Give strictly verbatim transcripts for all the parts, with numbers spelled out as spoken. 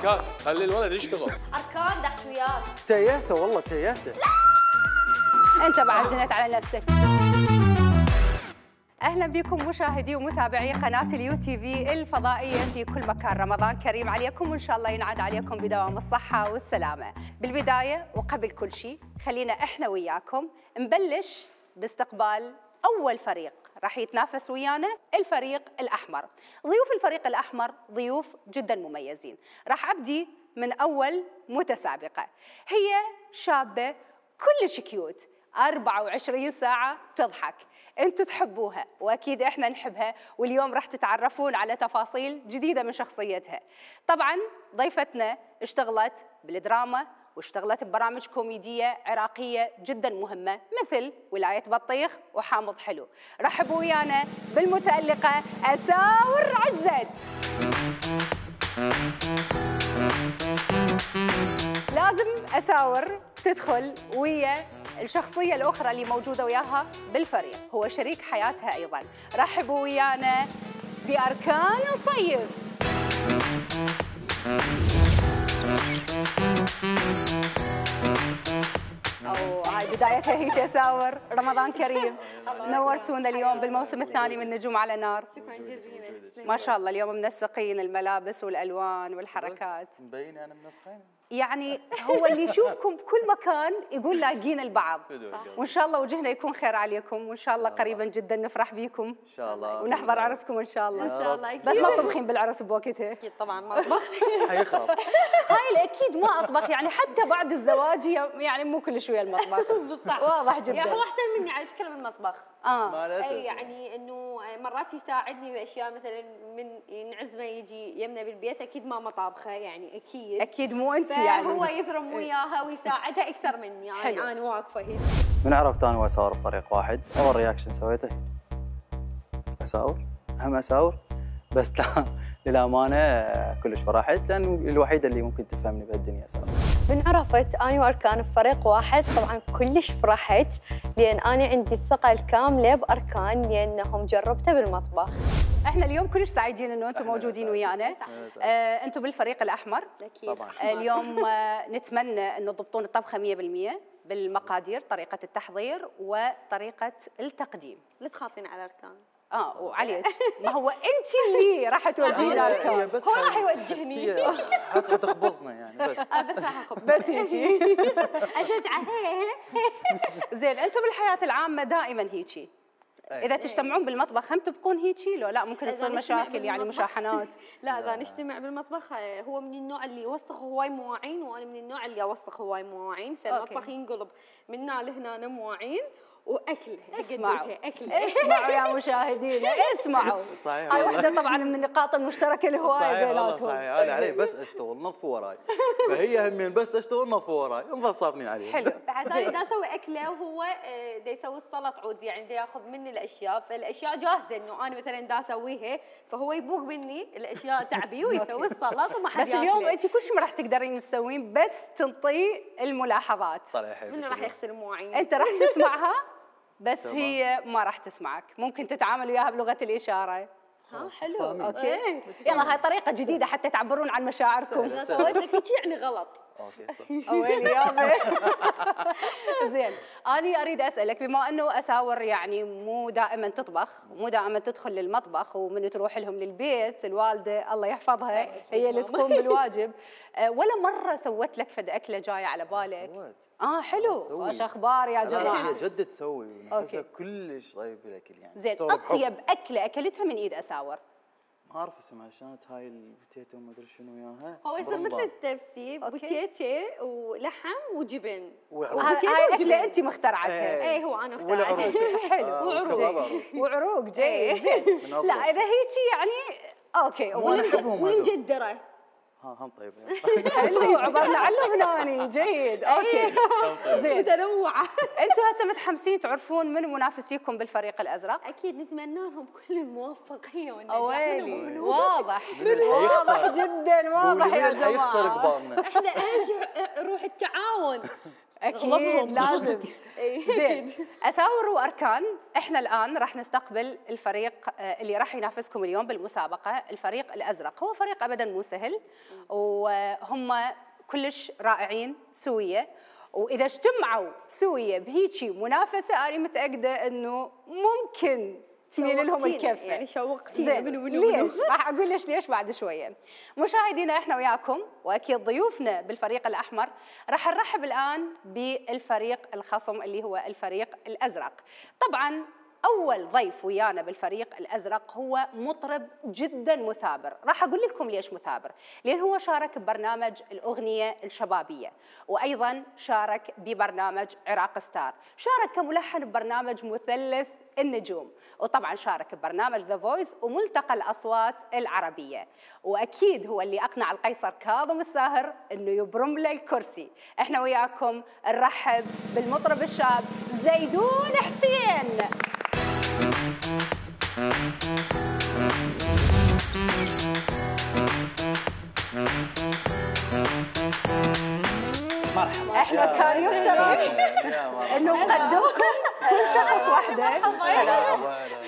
اركان خلي الولد يشتغل. اركان دحت وياك. تيهته والله تيهته. انت بعد جنيت على نفسك. اهلا بكم مشاهدي ومتابعي قناه اليو تي في الفضائيه في كل مكان. رمضان كريم عليكم وان شاء الله ينعاد عليكم بدوام الصحه والسلامه. بالبدايه وقبل كل شيء خلينا احنا وياكم نبلش باستقبال اول فريق راح يتنافس ويانا، الفريق الاحمر. ضيوف الفريق الاحمر ضيوف جدا مميزين. راح ابدي من اول متسابقه، هي شابه كلش كيوت، أربعة وعشرين ساعة تضحك، انتم تحبوها واكيد احنا نحبها، واليوم راح تتعرفون على تفاصيل جديدة من شخصيتها. طبعا ضيفتنا اشتغلت بالدراما واشتغلت ببرامج كوميدية عراقية جدا مهمة مثل ولاية بطيخ وحامض حلو. رحبوا ويانا بالمتألقة أساور عزت. لازم أساور تدخل ويا الشخصية الأخرى اللي موجودة وياها بالفريق، هو شريك حياتها أيضاً. رحبوا ويانا بأركان صيف. أو هاي بدايتها هيك أساور، رمضان كريم. نورتونا اليوم بالموسم الثاني من نجوم على نار. شكرا جزيلا. ما شاء الله اليوم منسقين الملابس والألوان والحركات. مبين أنا منسقين. يعني هو اللي يشوفكم بكل مكان يقول لاقين البعض. وان شاء الله وجهنا يكون خير عليكم، وان شاء الله قريبا جدا نفرح بيكم ان شاء الله ونحضر عرسكم ان شاء الله. ان شاء الله. بس ما تطبخين بالعرس بوقتها اكيد طبعا ما اطبخ. حيخرب. هاي الاكيد ما اطبخ، يعني حتى بعد الزواج يعني مو كل شويه المطبخ. بالصح واضح جدا. يعني هو احسن مني على فكره بالمطبخ. اه اي يعني انه مرات يساعدني باشياء، مثلا من نعزمه يجي يمنا بالبيت اكيد ماما طابخه، يعني اكيد اكيد مو انت يعني. هو يثرم وياها ويساعدها اكثر مني، يعني حلو. انا واقفه هنا. من عرفت انا واساور بفريق واحد، اول رياكشن سويته اساور، هم اساور، بس لا للامانه كلش فرحت لان الوحيده اللي ممكن تفهمني بهالدنيا اساور. من عرفت أنا وأركان بفريق واحد طبعاً كلش فرحت، لأن أنا عندي الثقة الكاملة بأركان لأنهم جربته بالمطبخ. احنا اليوم كلش سعيدين انه انتم موجودين ويانا. آه انتم بالفريق الاحمر اكيد طبعاً. آه اليوم آه نتمنى انه تضبطون الطبخه مية بالمية بالمقادير، طريقه التحضير وطريقه التقديم. لا تخافين على اركان. اه وعليك ما هو انت اللي راح توجهين اركان، بس هو راح يوجهني. حاسه تخبصنا يعني بس. بس راح اخذ بس هيجي. اشجعه. زين انتم بالحياه العامه دائما هيجي، اذا تجتمعون بالمطبخ هم تبقون هيجي لو لا ممكن تصير مشاكل يعني مشاحنات؟ لا اذا نجتمع بالمطبخ هو من النوع اللي يوسخ هواي مواعين، وانا من النوع اللي اوسخ هواي مواعين، فالمطبخ ينقلب من هنا لهنا مواعين واكل. اسمعوا اكل. اسمعوا يا مشاهدينا اسمعوا. صحيح. هاي واحده طبعا من النقاط المشتركه الهوايه بيناتهم. صحيح انا علي بس اشتغل نظفوا وراي، فهي همين بس اشتغل نظفوا وراي نظل صافنين عليه. حلو. بعد انا دا اسوي اكله وهو دا يسوي السلط عود، يعني دا ياخذ مني الاشياء، فالاشياء جاهزه انه انا مثلا دا اسويها، فهو يبوق مني الاشياء تعبي ويسوي السلط وما حد بس اليوم انت كل شيء ما راح تقدرين تسوين، بس تنطي الملاحظات. صحيح. منو راح يغسل المواعين؟ انت راح تسمعها بس هي ما راح تسمعك، ممكن تتعامل وياها بلغه الاشاره. ها حلو. اوكي يلا هاي طريقه جديده حتى تعبرون عن مشاعركم. اذا سويت لك هيك يعني غلط. اوكي صح. ويلي يابا. زين اني اريد اسالك، بما انه اساور يعني مو دائما تطبخ ومو دائما تدخل للمطبخ، ومن تروح لهم للبيت الوالده الله يحفظها هي اللي تقوم بالواجب، ولا مره سوت لك فد اكله جايه على بالك؟ سويت. اه حلو. وش اخبار يا جماعه؟ هي جد تسوي ونفسها كلش طيب بالاكل يعني. زين اطيب اكله اكلتها من ايد اساور؟ ما اعرف اسمها، كانت هاي البوتيتو ما ادري شنو وياها. هو يصير مثل التبسي، بوتيتي ولحم وجبن. هاي اكله انت مخترعتها؟ ايه هو انا اخترعتها. حلو. وعروق. وعروق جيد. زين لا اذا هيجي يعني اوكي ومجدره. ها هم طيب. حلو عبرنا عنه هناني جيد. اوكي زين متنوعه. انتم هسه متحمسين تعرفون من منافسيكم بالفريق الازرق؟ اكيد نتمنى لهم كل الموفقيه والنجاح. اويلي واضح واضح جدا واضح يا جماعه. حيخسر قبالنا. احنا اهم شيء روح التعاون. اكيد لازم. زين، اساور واركان، احنا الان راح نستقبل الفريق اللي راح ينافسكم اليوم بالمسابقه، الفريق الازرق. هو فريق ابدا مو سهل، وهم كلش رائعين سويه، واذا اجتمعوا سويه بهيجي منافسه انا متاكده انه ممكن تميل لهم الكفه. يعني شوقتينا. ليش؟ راح اقول ليش ليش بعد شويه. مشاهدينا احنا وياكم واكيد ضيوفنا بالفريق الاحمر راح نرحب الان بالفريق الخصم اللي هو الفريق الازرق. طبعا اول ضيف ويانا بالفريق الازرق هو مطرب جدا مثابر، راح اقول لكم ليش مثابر، لان هو شارك ببرنامج الاغنيه الشبابيه، وايضا شارك ببرنامج عراق ستار، شارك كملحن ببرنامج مثلث النجوم، وطبعا شارك ببرنامج ذا فويس وملتقى الاصوات العربيه، واكيد هو اللي اقنع القيصر كاظم الساهر انه يبرم له الكرسي. احنا وياكم نرحب بالمطرب الشاب زيدون حسين. مرحبا. احنا كان يفترض انه نقدمكم كل شخص وحده،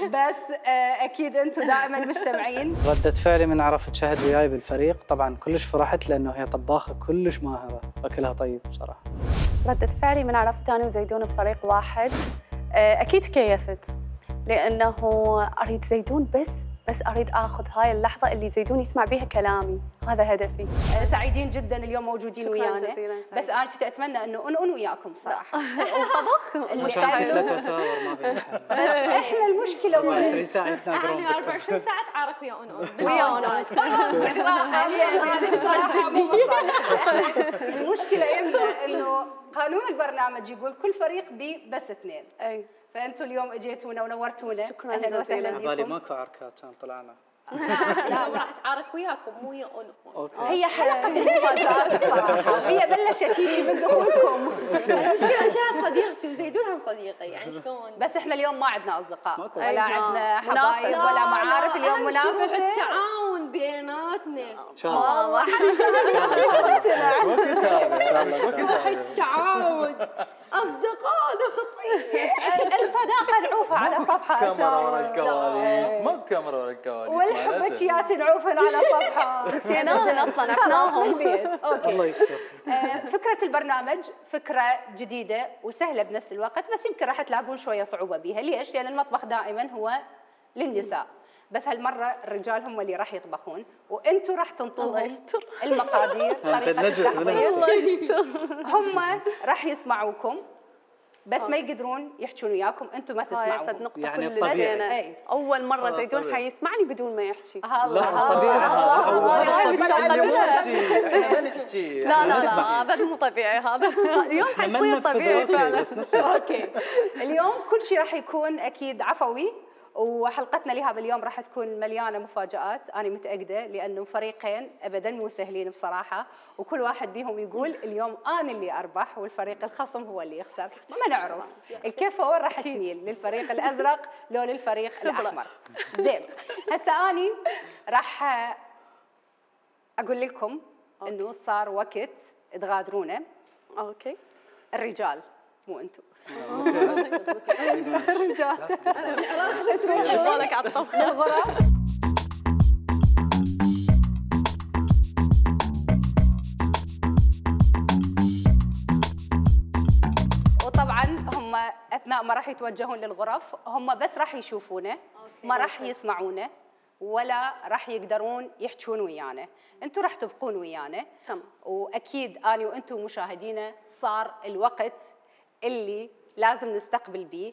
بس اكيد انتم دائما مجتمعين. ردة فعلي من عرفت شهد وياي بالفريق، طبعا كلش فرحت لانه هي طباخه كلش ماهره، اكلها طيب بصراحه. ردة فعلي من عرفت انا وزيدون بفريق واحد، اكيد كيفت، لانه اريد زيدون بس بس اريد اخذ هاي اللحظه اللي زيدون يسمع بيها كلامي، هذا هدفي. سعيدين جدا اليوم موجودين ويانا، جزيلا. بس انا كنت اتمنى انه انون وياكم صراحه. وطبخ اللي ثلاث وساور ما في بس احنا المشكله وين؟ عشرين ساعه يتناقرون. انا أربعة وعشرين ساعه تعارك ويا انون ويا انون. هذه صراحه مو مصالح. المشكله يمنا انه قانون البرنامج يقول كل فريق بي بس اثنين. اي فانتم اليوم اجيتونا ونورتونا. شكرا اهلا وسهلا جزيلا. بكم. بالي ماكو عركات كان طلعنا. لا راح تعارك وياكم مو ويا انون. هي حلقه المفاجآت بصراحه، هي بلشت هيجي من دخولكم. المشكله شاف صديقتي وزيدون هم صديقي، يعني شلون؟ بس احنا اليوم ما عندنا اصدقاء ماكو. ولا أيوة. عندنا منافسة. حبايب ولا معارف، اليوم أهم شي روح منافسه. التعاون بيناتنا. ان شاء الله. والله ايش وقت هذا؟ ايش وقت هذا؟ التعاون اصدقاء خطيه. الصداقه نعوفها على صفحه كاميرا ورا اساور، الكواليس، ما كاميرا ورا الكواليس. والحبكيات نعوفها على صفحه. نسيناهن اصلا، خلاص عرفناهم. بالبيت. اوكي. الله يستر. آه، فكره البرنامج فكره جديده وسهله بنفس الوقت، بس يمكن راح تلاقون شويه صعوبه بيها. ليش؟ لان المطبخ دائما هو للنساء، بس هالمره الرجال هم اللي راح يطبخون، وانتم راح تنطوهم المقادير، طريقه التحضير. الله يستر. هم راح يسمعوكم بس ما يقدرون يحجون وياكم، انتم ما هاي تسمعون. فد نقطة يعني كل الطبيعي. زينة. أي. أول مرة آه، زيدون طبيعي. حيسمعني بدون ما يحكي. الله طبيعي هذا. احنا ما نحكي. لا لا لا، هذا مو طبيعي هذا. اليوم ما حيصير ننفذ طبيعي اوكي فعلا. بس نسمع. اوكي. اليوم كل شيء راح يكون اكيد عفوي، وحلقتنا لهذا اليوم راح تكون مليانه مفاجآت، انا متاكده، لانه فريقين ابدا مو سهلين بصراحه، وكل واحد بيهم يقول اليوم انا اللي اربح والفريق الخصم هو اللي يخسر، ما نعرف الكفه وين راح تميل، للفريق الازرق لو للفريق الاحمر. زين، هسه اني راح اقول لكم انه صار وقت تغادرونا اوكي. الرجال، مو انتم. الرجال. تروح بالك على الطبخ. الغرف. وطبعا هم اثناء ما راح يتوجهون للغرف هم بس راح يشوفونا، ما راح يسمعونا ولا راح يقدرون يحجون ويانا، انتم راح تبقون ويانا. تمام. واكيد اني وانتم مشاهدينا صار الوقت اللي لازم نستقبل به.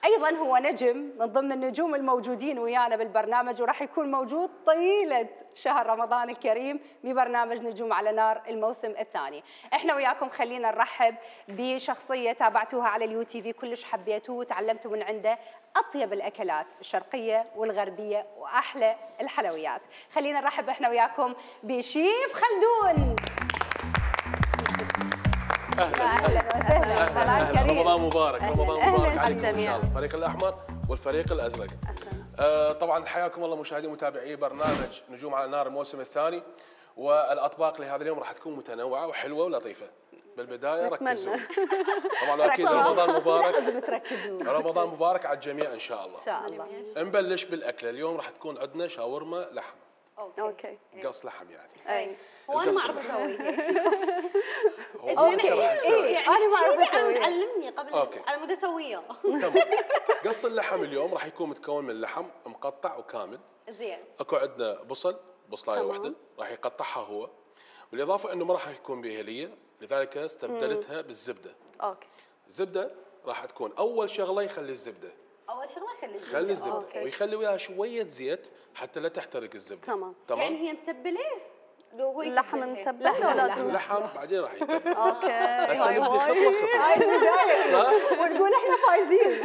ايضا هو نجم من ضمن النجوم الموجودين ويانا بالبرنامج، وراح يكون موجود طيله شهر رمضان الكريم ببرنامج نجوم على نار الموسم الثاني. احنا وياكم خلينا نرحب بشخصيه تابعتوها على اليو تي في، كلش حبيتوه وتعلمتوا من عنده اطيب الاكلات الشرقيه والغربيه واحلى الحلويات. خلينا نرحب احنا وياكم بشيف خلدون. اهلا وسهلا، صباح كريم. رمضان مبارك، رمضان مبارك عليكم ان شاء الجميع. الله، الفريق الاحمر والفريق الازرق. آه طبعا حياكم الله مشاهدي ومتابعي برنامج نجوم على نار الموسم الثاني، والاطباق لهذا اليوم راح تكون متنوعه وحلوه ولطيفه. بالبدايه نتمنى. ركزوا. طبعا اكيد رمضان مبارك، لازم تركزون. رمضان مبارك على الجميع ان شاء الله. ان شاء الله. نبلش بالاكله. اليوم راح تكون عندنا شاورما لحم، اوكي. قص لحم يعني. اي هو انا ما القص اعرف اللحم. اسويها. هو زين أنت راح تسوي. يعني أنا ما أعرف شيلي عم أسويها. تعلمني قبل أوكي. على مود اسويها. تمام. قص اللحم اليوم راح يكون متكون من لحم مقطع وكامل. زين. اكو عندنا بصل، بصلايه واحده راح يقطعها هو، بالاضافه انه ما راح يكون بها هليه، لذلك استبدلتها بالزبده. اوكي. الزبده راح تكون اول شغله يخلي الزبده، اول شغله خلي الزبده. خلي الزبده أوكي. ويخلي وياها شويه زيت حتى لا تحترق الزبده. تمام. تمام. يعني هي متبله؟ لو هو اللحم يتبلها. متبل ولا لازم؟ اللحم بعدين راح يتبل. اوكي. هسه هاي نبدي هواي. خطوه خطوه. صح؟ ونقول احنا فايزين.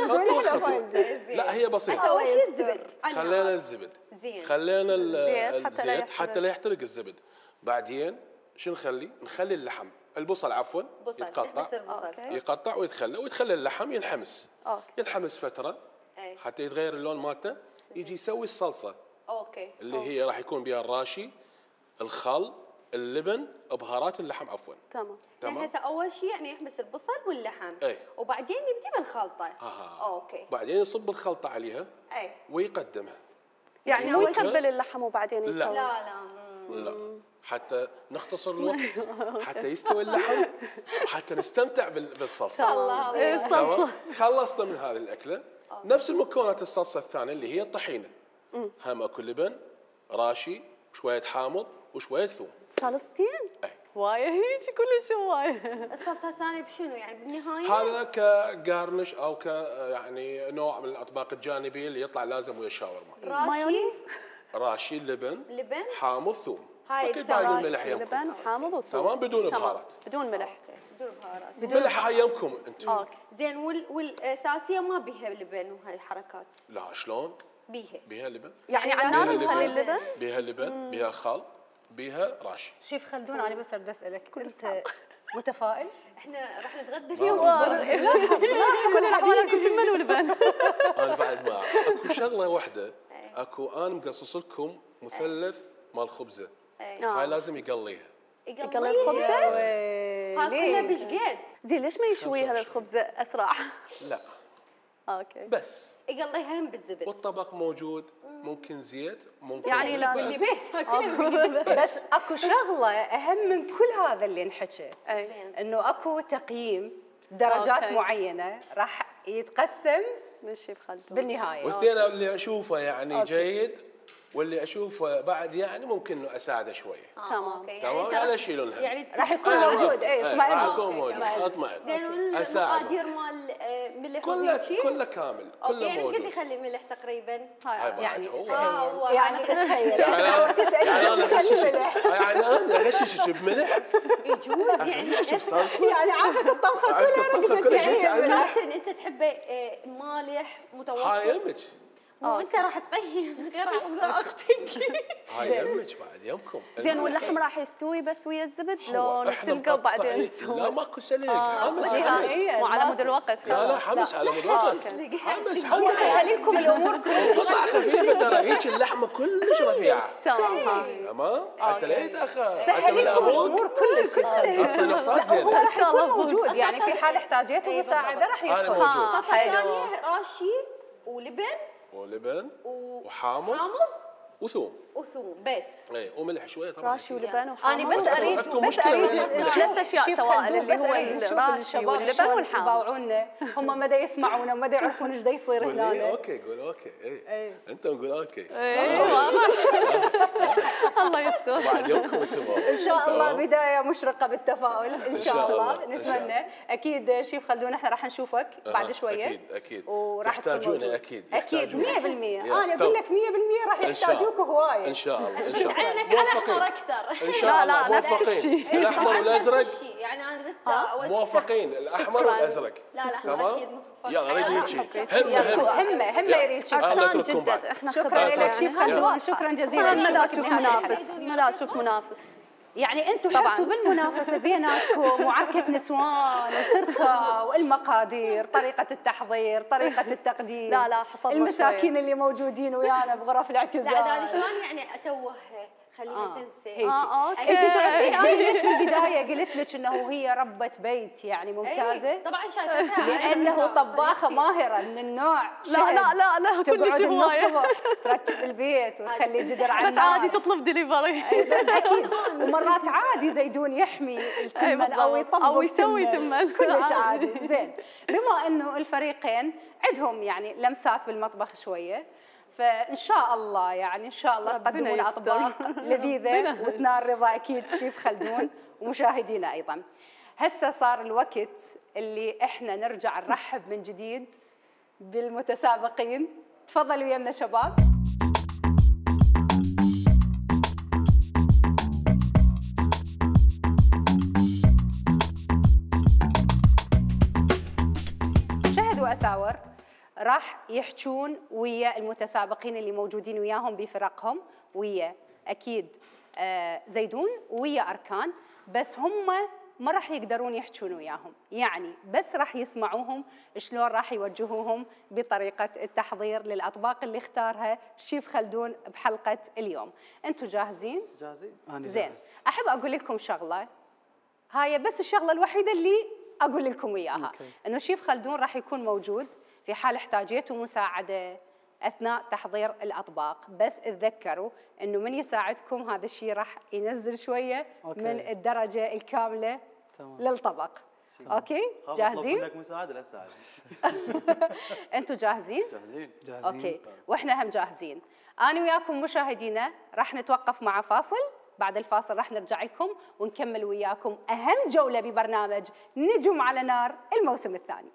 خطوه احنا خطوه. فايزين. لا هي بسيطه. اسوي أول شيء شي الزبد. خلينا الزبد، زين. خلينا ال- الزيت حتى لا الزيت يحترق. حتى لا يحترق الزبد. بعدين شو نخلي؟ نخلي اللحم، البصل عفوا بصل يتقطع، نحمس البصل. أوكي. يقطع ويتخلى ويتخلى اللحم ينحمس. أوكي. ينحمس فتره أي. حتى يتغير اللون مالته، يجي يسوي الصلصه اوكي. اللي هي راح يكون بها الراشي، الخل، اللبن، بهارات اللحم عفوا. تمام. يعني تمام. هسه اول شيء يعني يحمس البصل واللحم. أي. وبعدين نبدي بالخلطه. آه. اوكي. بعدين يصب الخلطه عليها اي. ويقدمها. يعني يعني مو أول شي- يتبل اللحم وبعدين لا. يسوي. لا لا مم. لا، حتى نختصر الوقت، حتى يستوي اللحم، وحتى نستمتع بال- بالصلصه. الله إيه، الله. الصلصه. تمام؟ خلصنا من هذه الاكله. نفس المكونات الصلصه الثانيه اللي هي الطحينه. هم اكو لبن، راشي، وشويه حامض وشويه ثوم. صلصتين؟ أي. وايه هيك كلش هوايه. الصلصه الثانيه بشنو يعني بالنهايه؟ هذا كجارنش او ك يعني نوع من الاطباق الجانبيه اللي يطلع لازم ويا الشاورما. راشي مايونيز؟ راشي، لبن، لبن. حامض، ثوم. هاي اكيد باقي الثلاث. الملح يمكم. لبن حامض وثوم. تمام، بدون تمام. بهارات. بدون ملح. بدون بهارات. الملح هاي يمكم انتم. اوكي. زين وال والاساسيه ما بيها لبن وهاي الحركات. لا شلون؟ بيها. بيها لبن، يعني يعني على النار لازم نخلي لبن. اللبن؟ بيها لبن، بيها خل، بيها راشي. شيف خلدون انا بس اريد اسالك، انت متفائل؟ احنا راح نتغدى ما اليوم. أعرف. كل الاحوال اكو جمل ولبن. انا بعد ما اعرف. اكو شغله واحده، اكو انا مقصص لكم مثلث مال خبزه، هاي لازم يقليها. يقلي الخبزه؟ ها كلها بشقد. زين ليش ما يشويها للخبزه اسرع؟ لا اوكي. بس، يقليها هم بالزبد. والطبق موجود، ممكن زيت، ممكن يعني زبدة. لازم. اللي بيت بس اكو شغله اهم من كل هذا اللي انحكى، اي. انه اكو تقييم درجات أوكي. معينه راح يتقسم من الشيف خلدون. بالنهايه. والاثنين اللي اشوفه يعني أوكي. جيد، واللي اشوفه بعد يعني ممكن انه اساعده شويه. تمام. تمام، يعني اشيل لها. يعني راح يكون أنا موجود. موافق. اي إيه، اطمئن. راح أوكي. يكون موجود، اطمئن. اطمئن. زين أساعده. والمقادير مال آه، ملح كله وهيجي؟ كله كامل، اوكي كله يعني ايش قد موجود. يخلي ملح تقريبا؟ هاي بعد يعني هو. اه هو يعني هذا. تخيل يعني انا تسالني يعني انا خلي اغششك ملح. يعني انا اغششك بملح، يجوز يعني اغششك بصلصه. يعني عرفت الطبخه عرفت كلها الطبخة نقصت كلها يعني جيت على الملح. كابتن انت تحبه آه، مالح متوسط؟ هاي يمك، مو انت راح تقيم غير عن اختك. هاي يمك بعد يمكم. زين واللحم راح يستوي بس ويا الزبد هو لو إحنا نسلقه وبعدين مقطعين. نسوي؟ لا ماكو سلق، آه، حمس نهائياً. حمس. مو على مود الوقت. لا لا خلاص. حمس على مود الوقت. أوكي. حمس هو حمس. سهل لكم الامور كلها. قطع خفيفه ترى، هيك اللحمه كلش رفيعه. تمام. ها. تمام، حتى لا يتاخر. حتى سهل من لكم ابوك الامور كلش. اعطي نقطات هو زينه. راح شاء الله يكون موجود، موجود. يعني في حال احتاجيته إي مساعده راح أنا يدخل. موجود. ها، الصفحه حلو. الثانيه راشي ولبن ولبن و- وحامض حامض وثوم، وثوم بس. اي وملح شويه طبعا. راشي ولبن وحامض. انا بس اريد أكو بس مشكلة اريد وين؟ نشوف- ثلاث أشياء شيف سواء خلدون، اللي بس هو أريد نشوف الراشي الشباب واللبن شلون والحامض. يباوعونا، هم مدى يسمعونا ومدى يعرفون ايش دا يصير قول هنا. إيه، اوكي قول اوكي اي انت نقول اوكي ايه واضح. الله يستر. بعد يومكم انتم ان شاء الله تمام؟ بدايه مشرقه بالتفاؤل ان شاء شاء الله، الله، إن شاء نتمنى. اكيد شيف خلدون احنا راح نشوفك بعد أها، شويه. اكيد اكيد وراح تكون يحتاجونا موجود. اكيد اكيد يحتاجونا. مية بالمية. يا، انا اقول طب. لك مية بالمية راح إن شاء الله. يحتاجوك هوايه. ان شاء الله ان بس شاء الله عينك على موفقين. احمر اكثر. ان شاء لا، الله لا، نفس موفقين. الشيء. الاحمر نفس والازرق الشيء، يعني انا بس دا أول- موافقين، الاحمر شكراً. والازرق لا لا تمام؟ احمر اكيد مفقع. يلا اريد هيك همه يلا، همه همه همه يلا. يريد شيف أنا عرسان أترككم بعد. جدد احنا شكرا خبرة لك يعني. شيف هاي. خلدون، شكرا جزيلا. اصلا ما دا نشوفك اشوف بنهاية الحلقة. منافس، ما دا اشوف منافس. يعني انتم طبعاً. حطوا بالمنافسه بيناتكم وعركه نسوان وتركه والمقادير، طريقه التحضير، طريقه التقديم. لا، لا، حفظنا المساكين اللي موجودين ويانا بغرف لا الاعتزال. انا شلون يعني اتوه خليها آه. تنسى هيجي. اه اوكي انت تعرفين انا ليش بالبدايه قلت لك انه هي ربة بيت يعني ممتازه؟ إيه، طبعا شايفتها لانه طباخه ماهره من النوع لا لا لا لا كلش تقعد من هوايه الصبح ترتب البيت وتخلي جدر على بس عادي تطلب دليفري بس اكيد ومرات عادي زيدون يحمي التمن او بالضبط. يطبق أو يسوي تمن. كلش عادي. عادي زين. بما انه الفريقين عندهم يعني لمسات بالمطبخ شويه، فان شاء الله يعني ان شاء الله ربنا تقدمون يستر. اطباق لذيذه ربنا وتنال رضا اكيد شيف خلدون ومشاهدينا ايضا. هسه صار الوقت اللي احنا نرجع نرحب من جديد بالمتسابقين. تفضلوا يمنا شباب. شهد وأساور راح يحجون ويا المتسابقين اللي موجودين وياهم بفرقهم، ويا أكيد آه زيدون ويا أركان، بس هم ما راح يقدرون يحجون وياهم، يعني بس راح يسمعوهم شلون راح يوجهوهم بطريقة التحضير للأطباق اللي اختارها الشيف خلدون بحلقة اليوم. أنتم جاهزين؟ جاهزين؟ انا زين. جاهز. أحب أقول لكم شغلة، هاي بس الشغلة الوحيدة اللي أقول لكم إياها، أوكي. إنه الشيف خلدون راح يكون موجود في حال احتاجيتوا مساعدة أثناء تحضير الأطباق، بس تذكروا إنه من يساعدكم هذا الشيء راح ينزل شوية أوكي. من الدرجة الكاملة تمام. للطبق. أوكي؟ أطلب جاهزين؟ منك مساعدة لا تساعد. أنتم جاهزين؟ جاهزين؟ جاهزين. اوكي واحنا هم جاهزين. انا وياكم مشاهدينا راح نتوقف مع فاصل، بعد الفاصل راح نرجع لكم ونكمل وياكم اهم جوله ببرنامج نجوم على نار الموسم الثاني.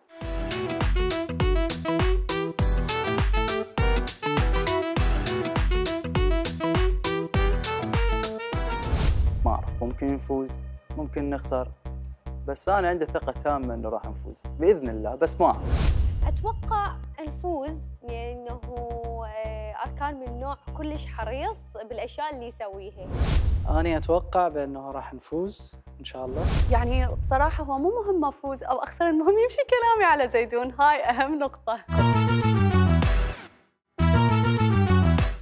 ما أعرف، ممكن نفوز ممكن نخسر، بس أنا عندي ثقة تامة إنه راح نفوز بإذن الله، بس ما أعرف. اتوقع نفوز لانه آه، اركان من نوع كلش حريص بالاشياء اللي يسويها. انا اتوقع بانه راح نفوز ان شاء الله. يعني بصراحه هو مو مهم افوز او اخسر، المهم يمشي كلامي على زيدون، هاي اهم نقطه.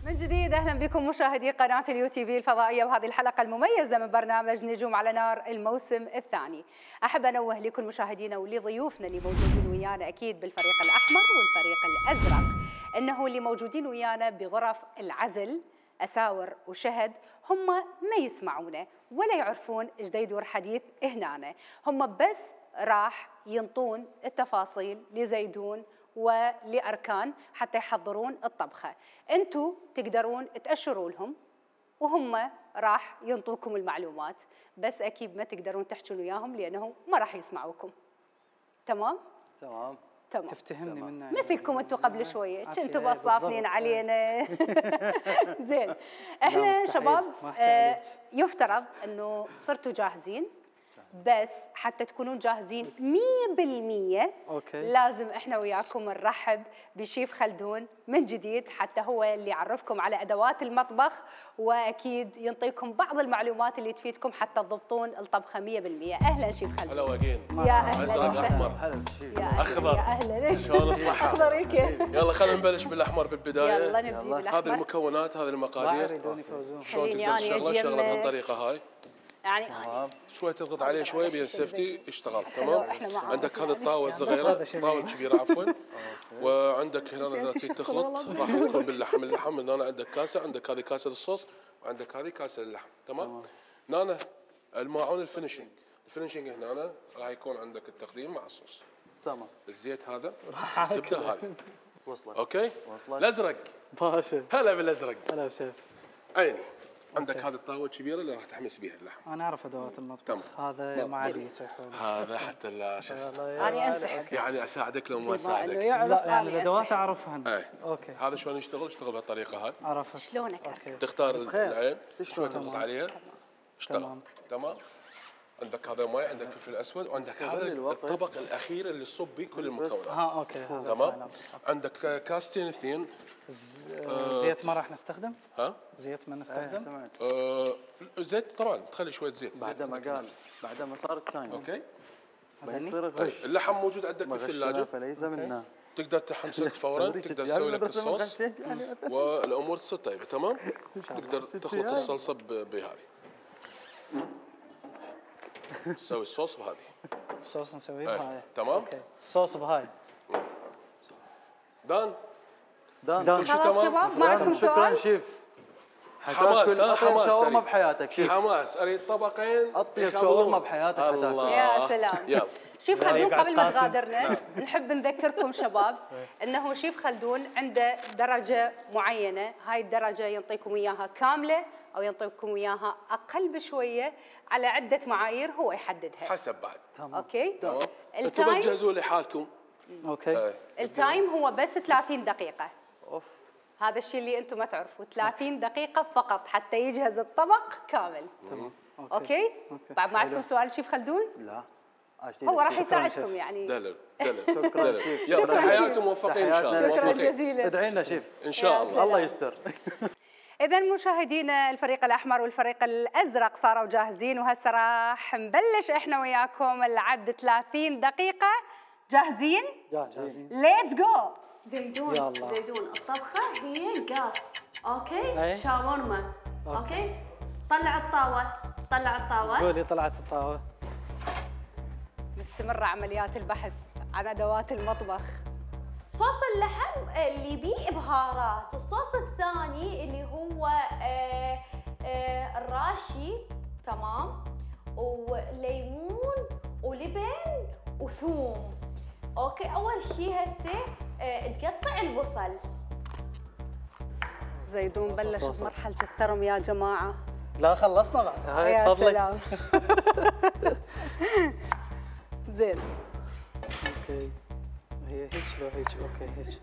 من جديد اهلا بكم مشاهدي قناه اليو تي في الفضائيه وهذه الحلقه المميزه من برنامج نجوم على نار الموسم الثاني. احب انوه لكل مشاهدينا ولضيوفنا اللي موجودين ويانا اكيد بالفريق الاحمر والفريق الازرق انه اللي موجودين ويانا بغرف العزل اساور وشهد هم ما يسمعونا ولا يعرفون ايش دا يدور حديث هنا، هم بس راح ينطون التفاصيل لزيدون ولأركان حتى يحضرون الطبخة. أنتوا تقدرون تأشروا لهم وهم راح ينطوكم المعلومات، بس أكيد ما تقدرون تحجون وياهم لأنه ما راح يسمعوكم. تمام؟ تمام. تمام. تفتهمني منه مثلكم انتم قبل شويه عافية، كنتوا بالضبط. بصافنين علينا. زين احنا مستحيل، شباب ما أحكي آه، عليك. يفترض انه صرتوا جاهزين، بس حتى تكونون جاهزين مية بالمية أوكي. لازم احنا وياكم نرحب بشيف خلدون من جديد حتى هو اللي يعرفكم على ادوات المطبخ واكيد ينطيكم بعض المعلومات اللي تفيدكم حتى تضبطون الطبخه مية بالمية. اهلا شيف خلدون. هلا وجين. يا اهلا ازرق وسهلا. احمر. هلا شيف. يا أهلا. أخضر. يا اهلا. شلون الصحة؟ اخضريك. يلا خلينا نبلش بالاحمر بالبدايه. يلا نبدي بالاحمر. هذه المكونات، هذه ما المقادير. يريدون يفوزون. شلون خليني تقدر أنا تشغله؟ أجي شغله يمه. بهالطريقه هاي. يعني شوي تضغط عليه شوي بين سيفتي يشتغل تمام. إحنا ما عندك عارفين هذه الطاوه الصغيره، طاوه كبيره عفوا. وعندك هنا اذا تريد تخلط راح تكون باللحم، اللحم من هنا عندك كاسه، عندك هذه كاسه الصوص وعندك هذه كاسه اللحم تمام. هنا الماعون الفينشنج، الفينشنج هنا راح يكون عندك التقديم مع الصوص. تمام. الزيت هذا، الزبده هذه. وصلت. اوكي؟ وصلت. الازرق. باشا هلا بالازرق. هلا وسهلا. عيني. عندك هذه الطاوه الكبيره اللي راح تحمس بها اللحم. انا اعرف ادوات المطبخ. تمام. هذا ما عاد يصيحون. هذا حتى لا شو اسمه. أنا أنسحب. يعني اساعدك لو ما بما إنه اساعدك. يعرف لا يعني أنا الادوات أنسحب. اعرفهن. اي اوكي هذا شلون يشتغل؟ يشتغل بهالطريقه هاي. عرفت. شلونك؟ اوكي تختار العين شوي تضغط تمام. عليها اشتغل تمام. تمام. عندك هذا ماي، عندك فلفل اسود، وعندك هذا الوقت. الطبق الاخير اللي تصب به كل المكونات. ها اوكي هذا تمام. فعلاً. عندك كاستين اثنين. ز- آه، زيت ما راح نستخدم؟ ها زيت ما إيه، نستخدم؟ سمعت. آه زيت طبعا تخلي شويه زيت. بعد ما قال بعد ما صارت ثانية. اوكي. بيصير أي. غش. اللحم موجود عندك ما غشنا بالثلاجه. فليس منا. تقدر تحمسك فورا، تقدر تسوي لك الصوص والامور تصير طيبه. تمام. تقدر تخلط الصلصه بهذه، تسوي الصوص بهذه. الصوص نسويه بهاي. تمام. اوكي. الصوص بهاي. دان دان كل شيء خلاص تمام. شباب ما عندكم شكرا سؤال؟ شيف. حماس ها حماس شاورما أريد. بحياتك شيف. حماس اريد طبقين اطيب يخلون. شاورما بحياتك الله. يا سلام. يلا. شيف خلدون يقعد قبل ما قاسم. تغادرنا نحب نذكركم شباب انه شيف خلدون عنده درجه معينه، هاي الدرجه ينطيكم اياها كامله او ينطيكم اياها اقل بشويه على عده معايير هو يحددها. حسب بعد. اوكي. تمام. انتم بس التايم جهزوا لي حالكم. اوكي. آه. التايم هو بس ثلاثين دقيقه. اوف. هذا الشيء اللي انتم ما تعرفوا، ثلاثين دقيقه فقط حتى يجهز الطبق كامل. تمام. اوكي. بعد ما عندكم سؤال شيف خلدون؟ لا هو راح يساعدكم يعني. دلل دلل دلل. يلا تحياتي موفقين ان شاء الله. شكرا موفقين جزيلا. ادعي لنا شيف. ان شاء الله. الله يستر. إذا مشاهدينا الفريق الأحمر والفريق الأزرق صاروا جاهزين، وهسه راح نبلش إحنا وياكم العد ثلاثين دقيقة. جاهزين؟ جاهزين. ليتس جو. زيدون يلا. زيدون الطبخة هي قاص، اوكي؟ أي. شاورما، اوكي؟ طلع الطاوة، طلع الطاوة. قولي طلعت الطاوة. مستمرة عمليات البحث عن أدوات المطبخ. صوص اللحم اللي بيه بهارات، والصوص الثاني اللي هو آه آه الراشي، تمام، وليمون ولبن وثوم. اوكي. اول شيء هسه آه تقطع البصل. زيدون بلش بمرحلة الثرم يا جماعة. لا خلصنا بعد. هاي يا تفضلي. سلام. زين. اوكي. هي هيك لو هيك. اوكي هيك.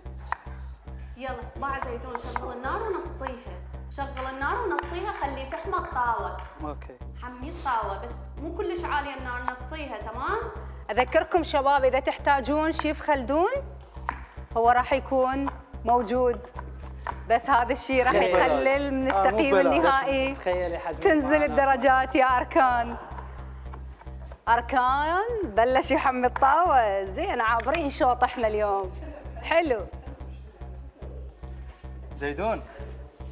يلا مع زيتون شغل النار ونصيها، شغل النار ونصيها، خلي تحمى الطاوة. اوكي. حمي الطاوة بس مو كلش عالية النار، نصيها. تمام؟ أذكركم شباب إذا تحتاجون شيف خلدون هو راح يكون موجود، بس هذا الشيء راح يقلل من آه، مو التقييم ببلاش. النهائي. تخيلي حجم تنزل معنا. الدرجات يا أركان. أركان بلش يحمي الطاوة. زين عابرين شوط احنا اليوم. حلو. زيدون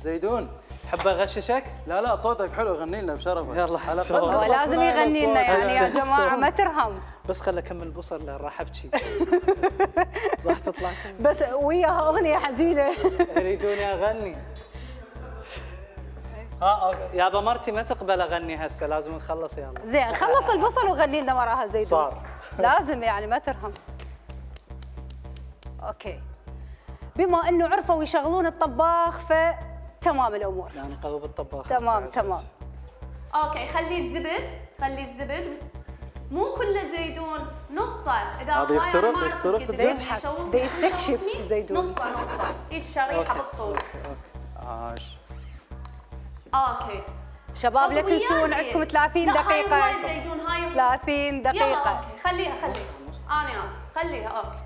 زيدون حابة اغششك؟ لا لا صوتك حلو، غني لنا بشرفك. يلا على الصوت. الأقل هو نخلص لازم من هاي يغني لنا الأصوات. يعني يا الصوت. جماعة ما ترهم. بس خل اكمل البصل لأن راح ابكي. راح تطلع. بس وياها أغنية حزينة. يريدوني اغني. ها أوكي. يابا مرتي ما تقبل اغني هسه، لازم نخلص يلا. زين خلص البصل وغني لنا وراها زيدون. صار. لازم يعني ما ترهم. اوكي. بما انه عرفوا يشغلون الطباخ فتمام الامور. يعني قلب الطباخ. تمام تمام. اوكي. خلي الزبد، خلي الزبد مو كله زيدون، نصه. اذا هذا هاي يخترق- أنا ما أعرف يخترق إيش قد الجو. يعني يشوف- بيستكشف يشوفني، زيدون. نصه نصه هيك شريحه بالطول. عاش. اوكي. شباب لا طب ويا تنسون زين. عندكم ثلاثين لا، هاي دقيقة. هواي زيتون، هاي ثلاثين يلا دقيقة. اوكي. خليها خليها. انا اسف. خليها اوكي.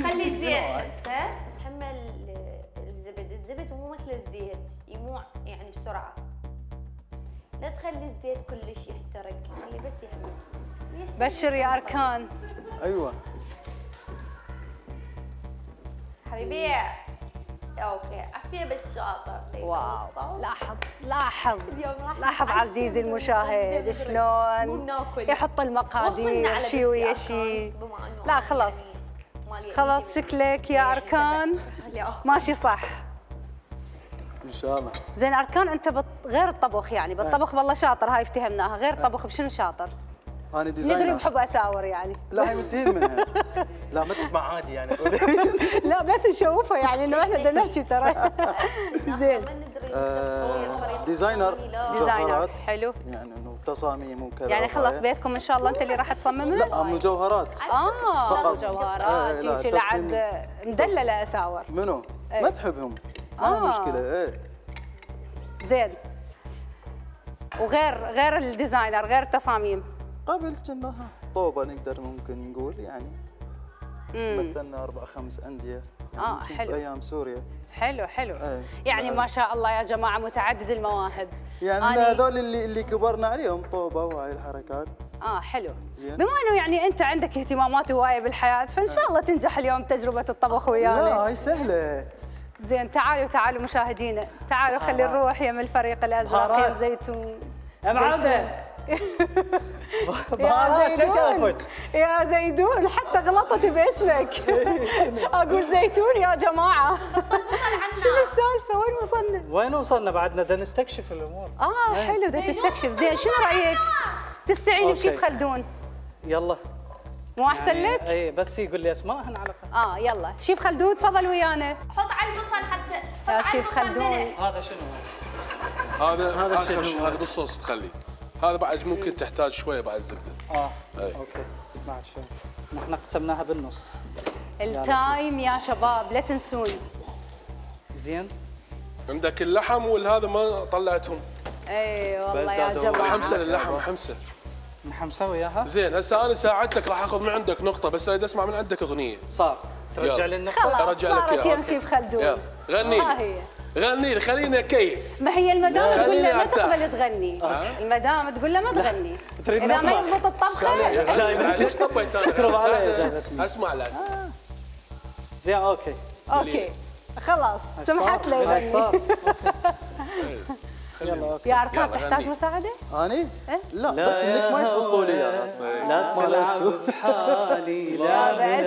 خلي الزيت هسه. حمل الزبد، الزبد مو مثل الزيت يموع يعني بسرعة. لا تخلي الزيت كلش يحترق، خلي بس يحمل. بشر يا أركان. ايوه. حبيبي اوكي. عافية بالشاطر. واو. لاحظ لاحظ اليوم راح لاحظ نتعشى عزيزي وناكل. المشاهد مو شلون ناكل. يحط وصلنا المقادير على شي ويا بس يا شي. أركان، بما إنه لا أنا خلاص يعني مالي خلاص أيدي. شكلك يا أركان خلي آكل. ماشي صح. ان شاء الله. زين أركان أنت بط... غير الطبخ يعني بالطبخ والله شاطر، هاي افتهمناها. غير الطبخ بشنو شاطر؟ انا ندري ديزاينر. بحب أساور يعني. لا هي منتهين منها. لا ما تسمع عادي يعني. لا بس نشوفها يعني إنه إحنا بدنا نحكي ترى. زين. ما ندري آه، ديزاينر ديزاينر مجوهرات. حلو. يعني انه تصاميم وكذا. يعني خلص وهاي. بيتكم إن شاء الله أنت اللي راح تصممه؟ لا مجوهرات. آه فقط. مجوهرات إيه، لا، هيك لعد تصميم. مدللة أساور. منو؟ إيه. ما تحبهم. ما آه. آه. مشكلة ايه. زين. وغير غير الديزاينر غير التصاميم. قبل كنا طوبة نقدر ممكن نقول يعني. امم مثلنا أربع خمس أندية. يعني آه، كنت حلو. بأيام سوريا. حلو حلو. إيه. يعني بعد. ما شاء الله يا جماعة متعدد المواهب. يعني أنا- أنا هذول اللي اللي كبرنا عليهم طوبة وهاي الحركات. اه حلو. زين. بما انه يعني انت عندك اهتمامات هوايه بالحياه، فان شاء الله تنجح اليوم تجربه الطبخ ويانا. لا هاي سهله. زين تعالوا تعالوا مشاهدينا، تعالوا خلي نروح يم الفريق الازرق بهارات. يم زيتون. يا معلم بهارات شو شافت؟ يا زيدون حتى غلطت باسمك. اقول زيتون يا جماعه. شنو السالفه؟ وين وصلنا؟ وين وصلنا بعدنا؟ بدنا نستكشف الامور. اه حلو ده تستكشف. زين شنو رايك تستعين أوكي. بشيف خلدون؟ يلا مو احسن لك؟ اي بس يقول لي اسماءهن على الاقل. اه يلا شيف خلدون تفضل ويانا. حط على البصل حتى حط يا على شيف البصل خلدون. ملح. هذا شنو؟ هذا هذا هذا شنو؟ هذا بالصوص تخلي. هذا بعد ممكن تحتاج شويه بعد زبده. اه أي. اوكي بعد شوي. احنا قسمناها بالنص. التايم يا شباب لا تنسون. زين. عندك اللحم والهذا ما طلعتهم. اي والله يا بس جماعه. حمسه للحم حمسه. نحن نسوي اياها؟ زين هسه انا ساعدتك راح اخذ من عندك نقطه بس اريد اسمع من عندك اغنيه. صار ترجع يلا. لي النقطة؟ خلاص أرجع لك صارت إياها. يم شيف خلدون. يلا غني ها لي هي. غني لي خليني اكيف. ما هي المدام تقول خليني له ما أرتاح. تقبل تغني. المدام تقول له ما تغني. تريد اذا ما نطبخ. يضبط الطبخه. لا، ليش طبيت انا؟ تكرم علي أساعدك. جابتني. اسمع لازم. زين اوكي. اوكي خلاص سمحت له هاي يغني. صار. يلا اوكي. يا اركان يلا تحتاج غني. مساعده؟ اني؟ إيه؟ لا بس انك ما تفصلوا لي اياها. لا تلعب بحالي لا بس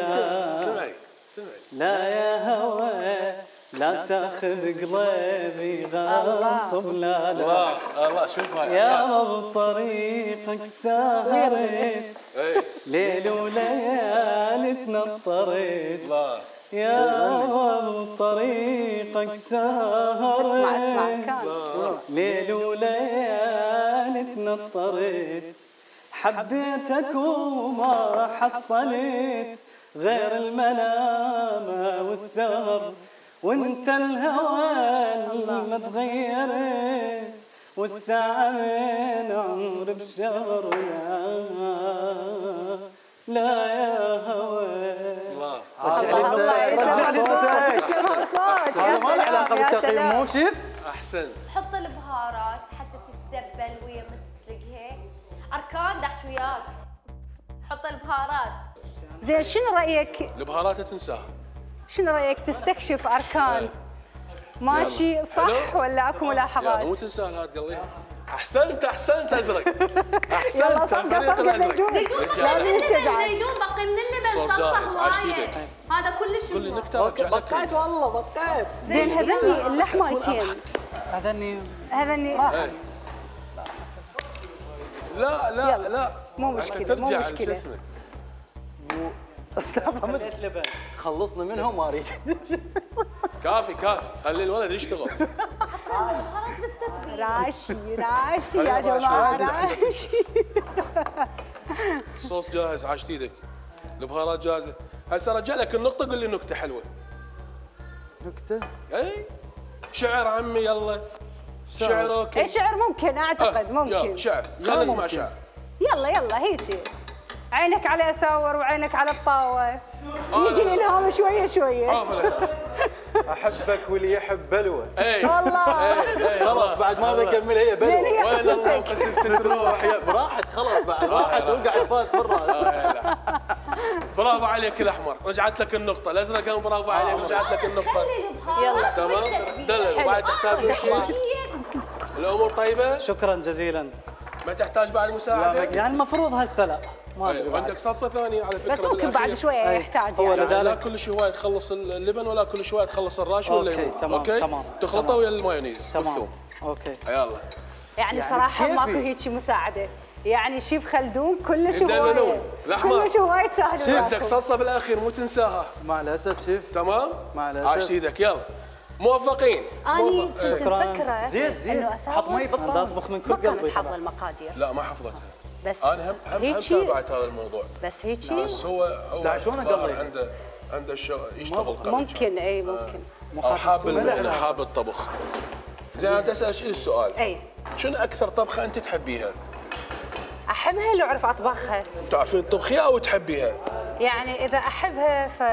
سمعي سمعي. لا يا هوى لا تاخذ قلبي غصب لا لا الله الله شوف هاي. يا بطريقك سهرت اي ليل وليالي تنطرت الله. يا بطريقك سهرت اسمع اسمع كان. ليل وليالي تنطرت حبيتك وما حصلت غير الملامة والسهر وانت الهوى ما تغيرت والساعة من عمر بشهر يا لا يا هوى الله. الله يسلمك. صوتك. يسلم الصوت. يا هذا ما له علاقه سلام، يا بالتقييم سلام. مو شيف؟ احسن. حط البهارات حتى تتدبل ويا ما تسلقها. اركان دحت وياك. حط البهارات. زين شنو رايك؟ البهارات تنساها. شنو رايك تستكشف اركان؟ ماشي صح حلو. ولا اكو يلا ملاحظات؟ مو تنساها لا تقليها. احسنت احسنت ازرق. يلا احسنت صفقه الفريق صفقه الازرق. زيتون رجال. لازم الشجاعه. زيتون بقي من اللبن صوص صلصه جاهز، عايش هوايه. ايدك. هذا كلش كل منيح. نكته رجع لك. بقيت والله بقيت زين هذني اللحمايتين هذني هذني إيه. لا لا لا مو أنت مشكلة، مو ترجع مشكلة. شو اسمه. خليت لبن خلصنا منهم ما اريد. كافي كافي خلي الولد يشتغل. راشي راشي يا خلينا جماعه شوي. راشي. الصوص جاهز عاشت ايدك. البهارات جاهزه. هسه رجع لك النقطه قول لي نكته حلوه. نكته؟ اي شعر عمي يلا. شعر اوكي. اي شعر ممكن اعتقد يلا ممكن. شعر خلينا نسمع شعر. يلا يلا هيجي عينك على اساور وعينك على الطاوه. يجي الالهام شويه شويه. عارف الأسئلة. احبك واللي يحب بلوه. اي والله خلاص بعد ما بكمل هي زين بلوه. هي وين الله قصتك. قصدت تروح. راحت خلاص بعد راحت وقعت فاز بالراس. برافو عليك الاحمر رجعت لك النقطه الازرق كان برافو عليك رجعت لك النقطه. يلا تمام دلل وبعد تحتاج شيء. الامور طيبه شكرا جزيلا ما تحتاج بعد مساعده. يعني المفروض هسه لا ما ادري أيوة. بعد. عندك صلصه ثانيه على فكره بس ممكن بعد بالأخير. شويه يحتاج هو يعني. لذلك- يعني لا كل شيء هواي تخلص اللبن ولا كل شويه تخلص الراش ولا أوكي، الليمون. تمام، اوكي تمام، تخلطه تمام. ويا المايونيز تمام والثوم اوكي يلا. يعني صراحه كيفي. ماكو هيك مساعده. يعني شيف خلدون كلش يدللون. هوايه الأحمر. كلش هوايه سهل عندك وياكم. صلصه بالاخير مو تنساها. مع الاسف شيف. تمام مع الأسف. عاش ايدك يلا موفقين. اني موفق- كنت شكراً. مفكره زيت زيت إنه أساور حط مي انا بالطاوله. اطبخ من ما كل كانت قلبي حافظه طبعا. المقادير لا ما حفظتها. بس انا هم هم هم هيجي تابعت هذا الموضوع. بس هيجي بس هو هو لا، شلون الظاهر أقلي؟ عنده عنده الشغل يشتغل قبل ممكن اي ممكن. او حاب المهنه حاب الطبخ. زين انا بدي اسالك شيء السؤال. اي شنو اكثر طبخه انت تحبيها؟ احبها لو اعرف اطبخها. تعرفين تطبخيها او تحبيها؟ يعني اذا احبها ف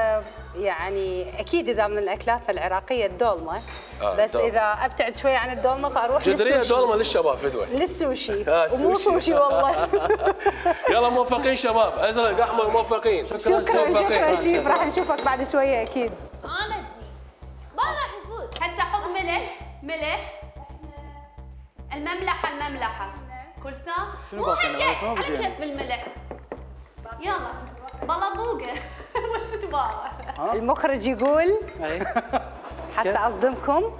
يعني اكيد اذا من اكلاتنا العراقيه الدولمه، آه، بس الدولمة. اذا ابتعد شويه عن الدولمه فاروح جدريه للسوشي. دولمه للشباب فدوه. للسوشي آه، ومو السوشي. سوشي والله. يلا موفقين شباب، ازرق احمر موفقين. شكرا شكرا شيف، راح نشوفك بعد شويه اكيد. انا ابني ما راح يفوز. هسه حط ملح ملح المملحه المملحه كل ساعه شنو مو باقي؟ أنا بس ما هكا بدي على يعني. كيف بالملح. يلا بالله ذوقه وش تبغى؟ المخرج يقول اي حتى اصدمكم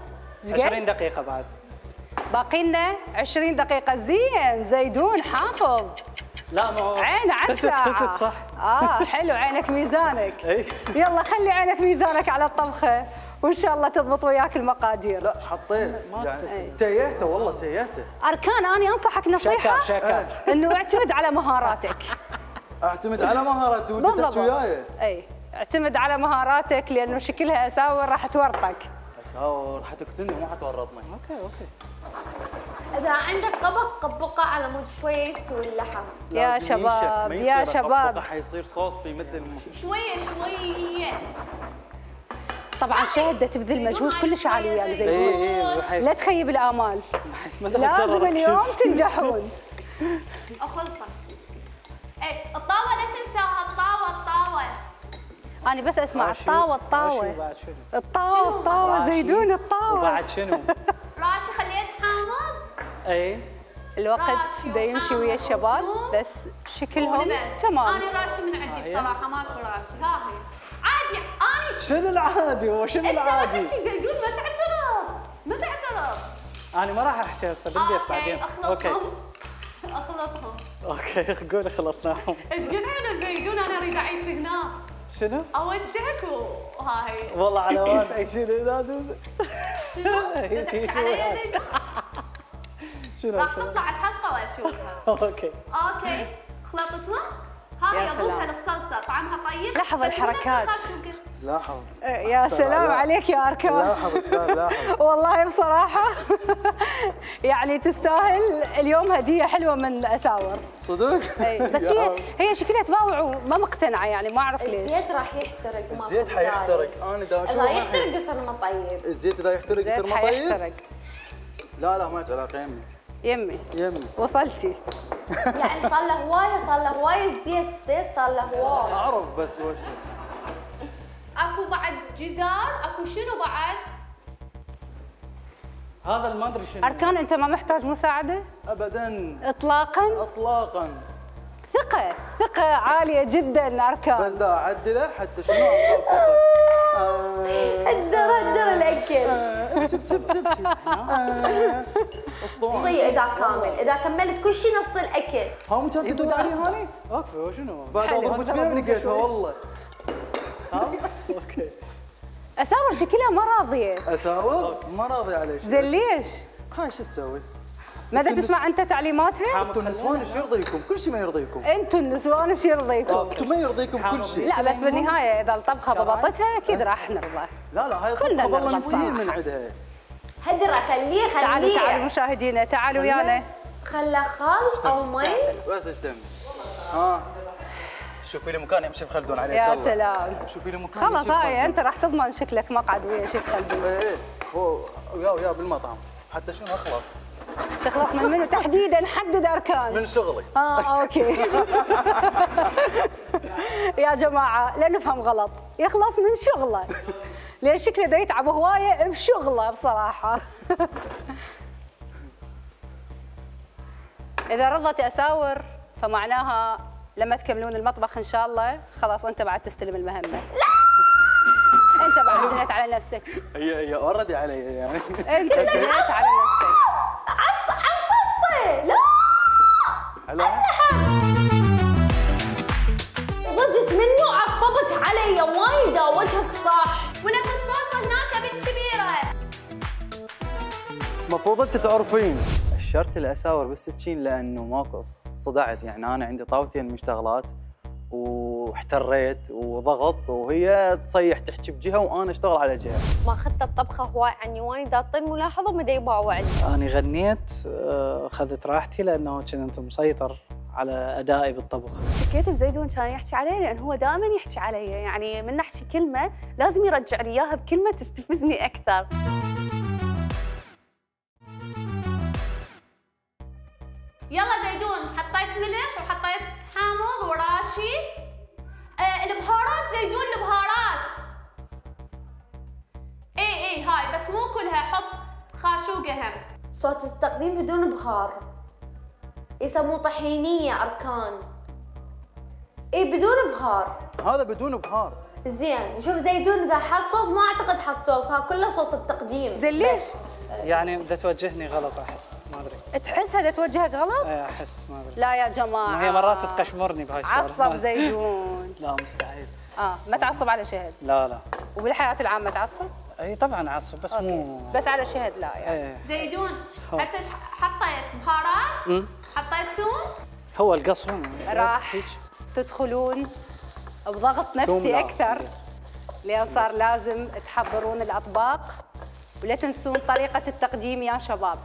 عشرين دقيقة بعد. باقي لنا عشرين دقيقة. زين زيدون حافظ. لا ما هو عين على قست الساعة. قست صح. اه حلو، عينك ميزانك. اي يلا خلي عينك ميزانك على الطبخة وان شاء الله تضبط وياك المقادير. لا حطيت أي. يعني تيهته والله تيهته. اركان اني انصحك نصيحة شكر شكر. انه اعتمد على مهاراتك. اعتمد على مهاراتي ودي تحكي وياي. اي اعتمد على مهاراتك لانه شكلها اساور راح تورطك. اساور حتقتلني وما حتورطني. اوكي اوكي. اذا عندك طبق قبقه على مود شويه يستوي اللحم. يا لازم شباب ينشف، ما يا يصير شباب. أطبقه، حيصير صوص مثل الم... شويه شويه. طبعا شهدة تبذل مجهود كلش عالي ويا اي زيدون. اي بحيث لا تخيب الامال، ما لازم أقدر اليوم أركز. تنجحون. اخلطه. اي الطاوه لا تنساها، الطاوه الطاوه. انا بس اسمع راشي- الطاوة راشي الطاوة وبعد شنو؟ الطاوة الطاوة راشي زيدون الطاوة. وبعد شنو؟ راشي خليت حامض. اي الوقت راشي دا يمشي ويا وحامض الشباب وثوم. بس شكلهم ولبن. تمام. انا راشي من عندي بصراحه ماكو راشي. ها هي عادي. انا ش... شنو العادي؟ هو شنو انت ما العادي؟ تحكي زيدون، ما تعترض ما تعترض. انا ما راح احكي هسه بالبيت بعدين. اوكي اخلطهم اخلطهم. اوكي قولي خلطناهم. ايش قد على زيدون، انا اريد اعيش هنا. شنو؟ اوجهك وهاي والله علامات اي شيء لا دوز. شنو؟ هيك هيك تضحك علي يا زيدون؟ شنو راح هسه؟ تطلع الحلقه واشوفها. اوكي. اوكي خلطتنا. هاي يا اضيفها سلام. للصلصه، طعمها طيب. لاحظ بس مو نفس الحركات. الخاشوقة. لاحظ يا سلام لا. عليك يا اركان. لاحظ استاذ لاحظ. والله بصراحة يعني تستاهل اليوم هدية حلوة من اساور. صدق؟ اي بس هي هي شكلها تباوع وما مقتنعة يعني ما اعرف ليش. الزيت راح يحترق. ما الزيت في حيحترق. انا دا داعي. اشوف اذا يحترق يصير ما طيب. الزيت اذا يحترق يصير زيت ما طيب؟ حيحترق. لا لا ما لك علاقه يمي يمي يمي. وصلتي. يعني صار له هوايه صار له هوايه زيت زيت صار له هوايه. اعرف بس وش اكو بعد جزار، اكو شنو بعد؟ هذا ما ادري شنو. اركان انت ما محتاج مساعدة ابدا اطلاقا. اطلاقا. ثقة ثقة عالية جدا اركان. بس دا اعدله حتى شنو اطبقه. هدر هدر الاكل. شب شب شب شب. اسطوانه. ضيع اذا كامل، اذا كملت كل شيء نص الاكل. ها مو كانت تدور علي هاني؟ اوكي وشنو؟ بعد اضرب بين لقيتها والله. اوكي. اساور شكلها ما راضية. اساور ما راضي عليه. زين ليش؟ هاي شو تسوي؟ ماذا تسمع انت تعليماتها؟ انتم النسوان ايش يرضيكم؟ كل شيء ما يرضيكم. انتم النسوان ايش يرضيكم؟ انتم ما يرضيكم كل شيء. لا بس بالنهاية اذا الطبخة ضبطتها اكيد راح نرضى. لا لا هاي كلنا طبخه والله نرضى مثير من بصراحة. عندها. هدر خليه تعالوا تعالوا خليه. مشاهدينا تعالوا ويانا. خله خل او مي. بس ايش تم؟ ها شوفي لي مكان يمشي خلدون عليه. يا سلام. شوفي لي مكان خلاص يمشي هاي بخلدون. انت راح تضمن شكلك مقعد ويا شيخ خلدون. ايه ايه هو ويا ويا بالمطعم حتى شنو اخلص تخلص من منو تحديدا؟ حدد اركان. من شغلي. اه اوكي. يا جماعه لا نفهم غلط، يخلص من شغله لان شكله دا يتعب هوايه بشغله بصراحه. اذا رضت اساور فمعناها لما تكملون المطبخ ان شاء الله خلاص انت بعد تستلم المهمه. لا انت بعد جنيت على نفسك. هي هي اوريدي علي يعني. انت جنيت على نفسك. عف عفصه لا. هلا ضجت منه عصبت علي وايد وجهك صح. ولك الصوص هناك بنت كبيره. المفروض انت تعرفين شرت الاساور بالسكين لانه ماكو صدعت يعني انا عندي طاوتين مشتغلات واحتريت وضغط وهي تصيح تحكي بجهه وانا اشتغل على جهه. ما اخذت الطبخه هواي عني وانا دا اعطي ملاحظه وما دا يباوعني. انا غنيت آه، اخذت راحتي لانه كنت مسيطر على ادائي بالطبخ. شكيت بزيدون كان يحكي علي لان هو دائما يحكي علي، يعني من نحكي كلمه لازم يرجع لي اياها بكلمه تستفزني اكثر. يلا زيدون، حطيت ملح وحطيت حامض وراشي. آه البهارات زيدون، البهارات اي اي هاي بس مو كلها، حط خاشوقة هم. صوت التقديم بدون بهار يسموه طحينية أركان. اي بدون بهار. هذا بدون بهار. زين شوف زيدون اذا حط صوت ما اعتقد حط صوت، ها كله صوت التقديم. زين ليش؟ يعني اذا توجهني غلط احس، ما ادري. تحس هذا توجهك غلط؟ ايه احس، ما ادري. لا يا جماعه هي مرات تقشمرني بهاي السوالف. عصب زيدون. لا مستحيل. اه ما تعصب على شهد؟ لا لا. وبالحياه العامه تعصب؟ اي طبعا اعصب بس أوكي. مو بس على شهد لا يعني. ايه. زيدون هسه حطيت بهارات، حطيت ثوم. هو القصوى راح تدخلون بضغط نفسي اكثر، لان صار لازم تحضرون الاطباق، ولا تنسون طريقه التقديم يا شباب.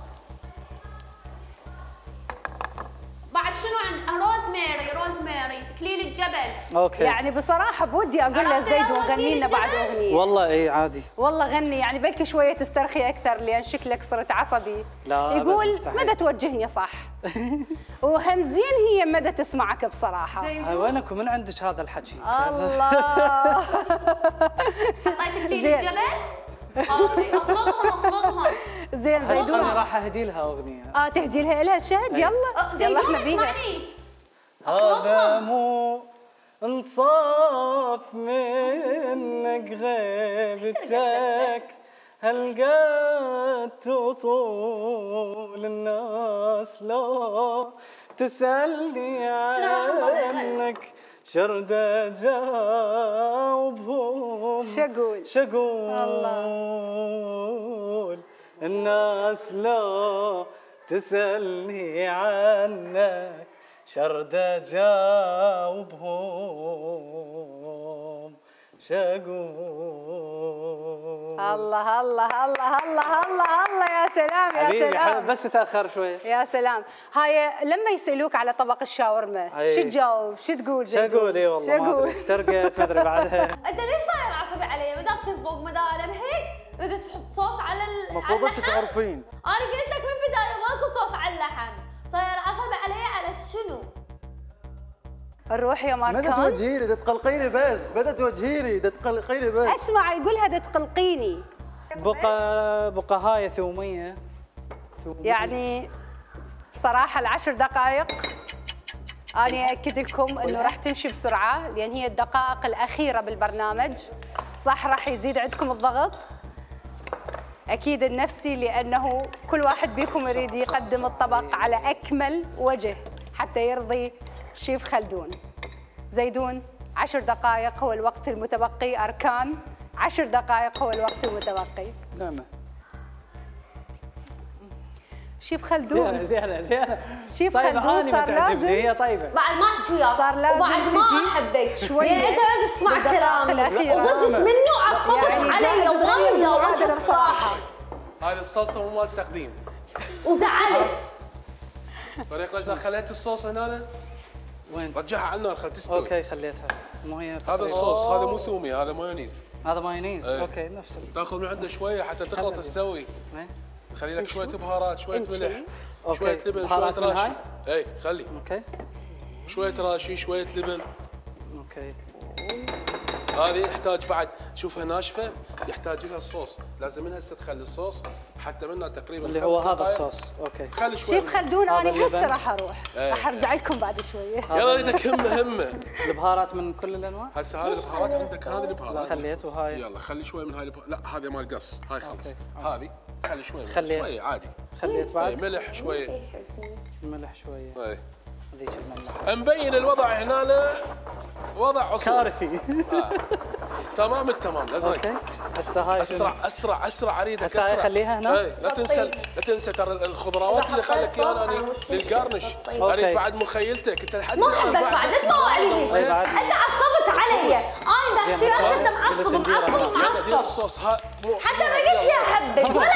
بعد شنو عند روزماري، روزماري اكليل الجبل. اوكي. يعني بصراحه بودي اقول له زيدون غني لنا بعد اغنيه. والله اي عادي. والله غني، يعني بلكي شويه تسترخي اكثر لان شكلك صرت عصبي. لا يقول مدى توجهني صح. وهمزين هي مدى تسمعك بصراحه. هاي وينك ومن عندك هذا الحكي؟ الله. حطيت اكليل الجبل. اوكي اخلطهم اخلطهم. زين زيدون انا راح اهدي لها اغنيه. اه تهدي لها لها شهد. يلا يلا احنا بيها. هذا مو انصاف منك غيبتك، هالقد تطول الناس لو تسألني عنك، شرد اجاوبهم شقول شقول الناس لو تسألني عنك، شرد اجاوبهم شقول. الله الله الله الله الله الله يا سلام يا حبيبي سلام. حبيبي بس تاخر شوي. يا سلام. هاي لما يسالوك على طبق الشاورما شو تجاوب؟ شو تقول؟ شو اقول؟ اي والله ما ادري، احترقت ما ادري بعدها. انت ليش صاير عصبي علي؟ ما دام فوق مدالم هيك بدك تحط صوص على ال المفروض انت تعرفين. انا قلت لك من البدايه ماكو صوص على اللحم، صاير عصبي علي على شنو؟ الروح يا ماركان. ماذا توجهي لي؟ تقلقيني بس، ماذا توجهي لي؟ تقلقيني بس. اسمع يقولها دا تقلقيني. بقى بقى هاي ثوميه. ثومية. يعني بصراحه العشر دقائق أنا أكد لكم أنه راح تمشي بسرعة، لأن هي الدقائق الأخيرة بالبرنامج. صح راح يزيد عندكم الضغط أكيد النفسي، لأنه كل واحد بيكم يريد يقدم الطبق على أكمل وجه حتى يرضي شيف خلدون. زيدون عشر دقائق هو الوقت المتبقي. أركان عشر دقائق هو الوقت المتبقي. نعم. شيف خلدون. زينة زينة زينة. شيف طيب خلدون صار لازم. هي طيبة. بعد ما احكي وياك. صار لازم وبعد ما احبك. شوي. يعني انت ما تسمع كلامي. وصدت منه وعصبت يعني علي وغير وجهك بصراحة. هاي الصلصه مو مال التقديم. وزعلت. فريق ليش خليت الصوص هنا؟ وين؟ رجعها على النار خل تستوي. اوكي خليتها. مو هي هذا الصوص هذا مو ثومي، هذا مايونيز. هذا مايونيز. ايه. اوكي نفس ال... تاخذ من عنده شويه حتى تخلط تسوي. خلي لك شويه بهارات، شويه ملح، شويه لبن، شويه راشي. اي خلي. اوكي. شويه راشي، شويه لبن. اوكي. هذه يحتاج بعد شوفها ناشفه، يحتاج لها الصوص، لازم من هسه تخلي الصوص حتى منها تقريبا اللي هو هذا الصوص. اوكي. خلي شوي. شيف خلدون انا هسه راح اروح، راح ارجع لكم بعد شويه. يلا اريدك همه همه. البهارات من كل الانواع؟ هسه هذه البهارات عندك، هذه البهارات خليت وهاي. يلا خلي شوي من هاي البهارات، لا هذه مال قص، هاي خلص. هذه خلي شوي خليت. شوي عادي. خليت بعد. ملح شويه. ملح شويه. اي هذيك الملح. مبين الوضع هنا وضع عصور كارثي. آه. تمام التمام لازم. اوكي. هسه هاي اسرع اسرع اسرع اريدك اسرع. هسه خليها هنا. اي لا تنسى لا تنسى ترى الخضروات اللي خلك اياها انا للقرنش. اريد بعد مخيلتك انت لحد ما احبك بعد انت ما عليك. انت عصبت علي. انا اذا احكي انت معصب معصب معصب. الصوص ها حتى ما قلت لي احبك ولا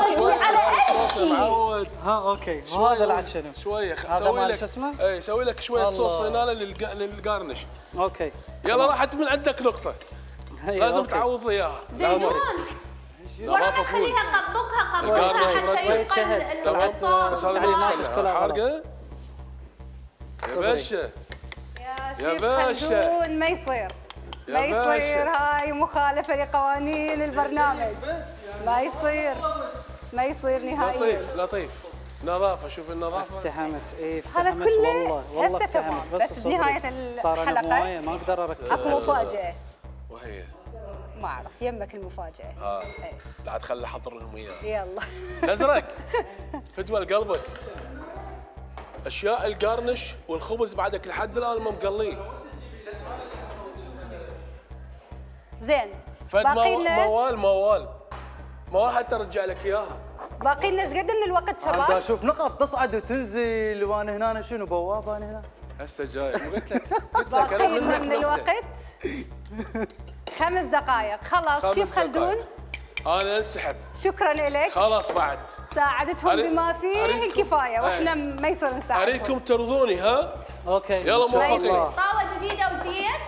اشرت على اي معود. ها اوكي وهذا العد شنو؟ شويه هذا سوي مال لك شو اسمه؟ اي سوي لك شويه الله. صوص هنا للق- للقارنش. اوكي يلا راحت من عندك نقطه. هي، لازم أوكي. تعوض لي اياها. زيدون ولا نظافة فول. خليها قبقها القارنش قبقها حتى مرتب. يبقى تمام. الصوص بس هذا ما تعليمات يتخلى كلها غلط. حارقه. يا باشا يا يا شيف باشا. خلدون ما يصير يا ما يصير، باشا. هاي مخالفة لقوانين البرنامج. ما يصير ما يصير نهائيا. لطيف لطيف. نظافه شوف النظافه. افتحمت ايه هذا افتحمت كله والله والله هسه تمام، افتحمت بس صبري. بنهاية صار أنا الحلقة بمويه ما اقدر اركز. اكو مفاجأة. وهي ما اعرف يمك المفاجأة. ها إيه. لا تخلي احضر لهم اياها. يلا الازرق فدوى لقلبك. اشياء القرنش والخبز بعدك لحد الان ما مقلين. زين فد باقي مو- لنا موال موال موال حتى ارجع لك اياها. باقي لنا ايش قد من الوقت انت شباب؟ اشوف نقط تصعد وتنزل وانا هنا شنو بوابه انا هنا. هسه جاي مو قلت لك قلت لك انا باقي لنا منك من نقطة. الوقت خمس دقائق. خلاص خمس شيف خلدون دقايق. انا انسحب شكرا لك، خلاص بعد. ساعدتهم أريد- بما فيه أريدكم- الكفايه واحنا أي. ما يصير نساعدهم. اريدكم ترضوني ها. اوكي يلا إن شاء موفقين. الله. طاوة جديدة وزيت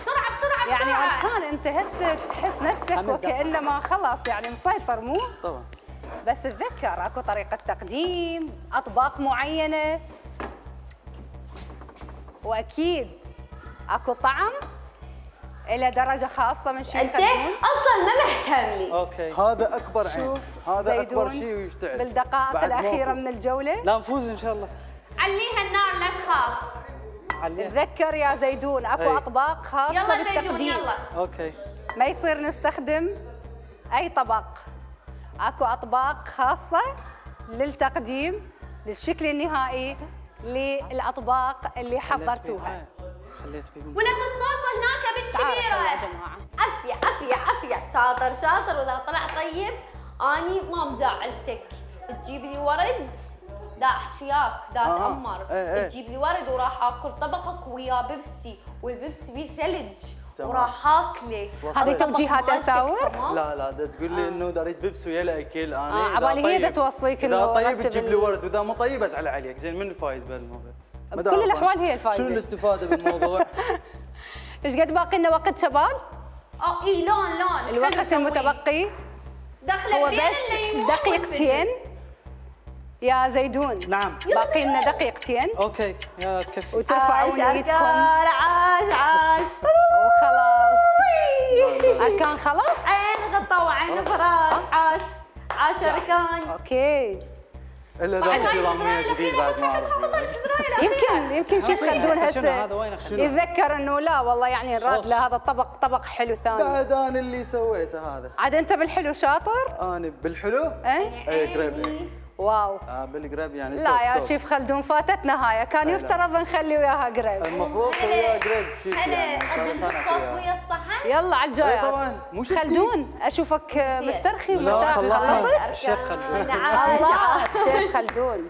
بسرعة بسرعة يعني بسرعة اركان انت هسه تحس نفسك خمس دقائق. وكانما خلاص يعني مسيطر مو؟ طبعا. بس تذكر اكو طريقه تقديم، اطباق معينه، واكيد اكو طعم الى درجه خاصه من شيف انت خلدون. اصلا ما مهتم لي. اوكي هذا اكبر عين. شوف هذا اكبر زيدون شيء ويشتعل. بالدقائق بعد الاخيره موكو. من الجوله. لا نفوز ان شاء الله. عليها النار لا تخاف. عليها. تذكر يا زيدون اكو أي. اطباق خاصه يلا زيدون بالتقديم. يلا. اوكي ما يصير نستخدم اي طبق، اكو اطباق خاصه للتقديم للشكل النهائي للاطباق اللي حضرتوها. خليت بيهم. ولك الصوص هناك تعالوا يا بالكبيرة. جماعه عافية عافية عافية. شاطر شاطر. واذا طلع طيب اني ما مزعلتك. تجيب لي ورد دا احكياك دا آه. اتامر. إيه إيه. تجيب لي ورد وراح اكل طبقك ويا بيبسي والبيبسي بيه ثلج تمام. وراح اكله. هذه توجيهات أساور؟ لا لا دا تقول لي انه دا اريد بيبس ويا الاكل انا. آه، إذا عبالي هي دا طيب- توصيك اذا إنه طيب رتب تجيب لي ال- ورد واذا مو طيب ازعل عليك. زين من الفايز بهالموضوع؟ ما بكل أعرف الأحوال أنا هي الفايزة. شنو الاستفاده بالموضوع؟ ايش قد باقي لنا وقت شباب؟ اه اي لون لون. الوقت حلو سويه. المتبقي دخله هو بين بس الليمون دقيقتين يا زيدون. نعم باقي لنا دقيقتين اوكي يا تكفي. وترفعون ايدكم عاش عاش. وخلاص. اركان خلاص؟ عين غطا وعين فراش. عاش عاش اركان. اوكي. الا بعد ذا هاي راميه الجزرايه جديد الاخيره بعد ما حطها حطها اعرف. الجزرايه الاخيره. يمكن يمكن شيف خلدون هسه شنو هسه هذا وين اخذ؟ يتذكر انه لا والله يعني نراد صوص. لهذا الطبق طبق حلو ثاني. بعد انا اللي سويته هذا. عاد انت بالحلو شاطر؟ انا بالحلو؟ ايه؟ اي قريب. واو. آه بالقريب يعني. لا توب يا توب. شيف خلدون فاتتنا هاي، كان لا. يفترض نخلي وياها قريب. المفروض سويها قريب شيف هلا يعني. قدمت الصوص ويا الصحن. يلا على الجايات. إيه طبعاً، مو شفتي؟ خلدون اشوفك مسترخي لا ومرتاح. خلصنا خلصت؟ الشيف خلدون. الله شيف خلدون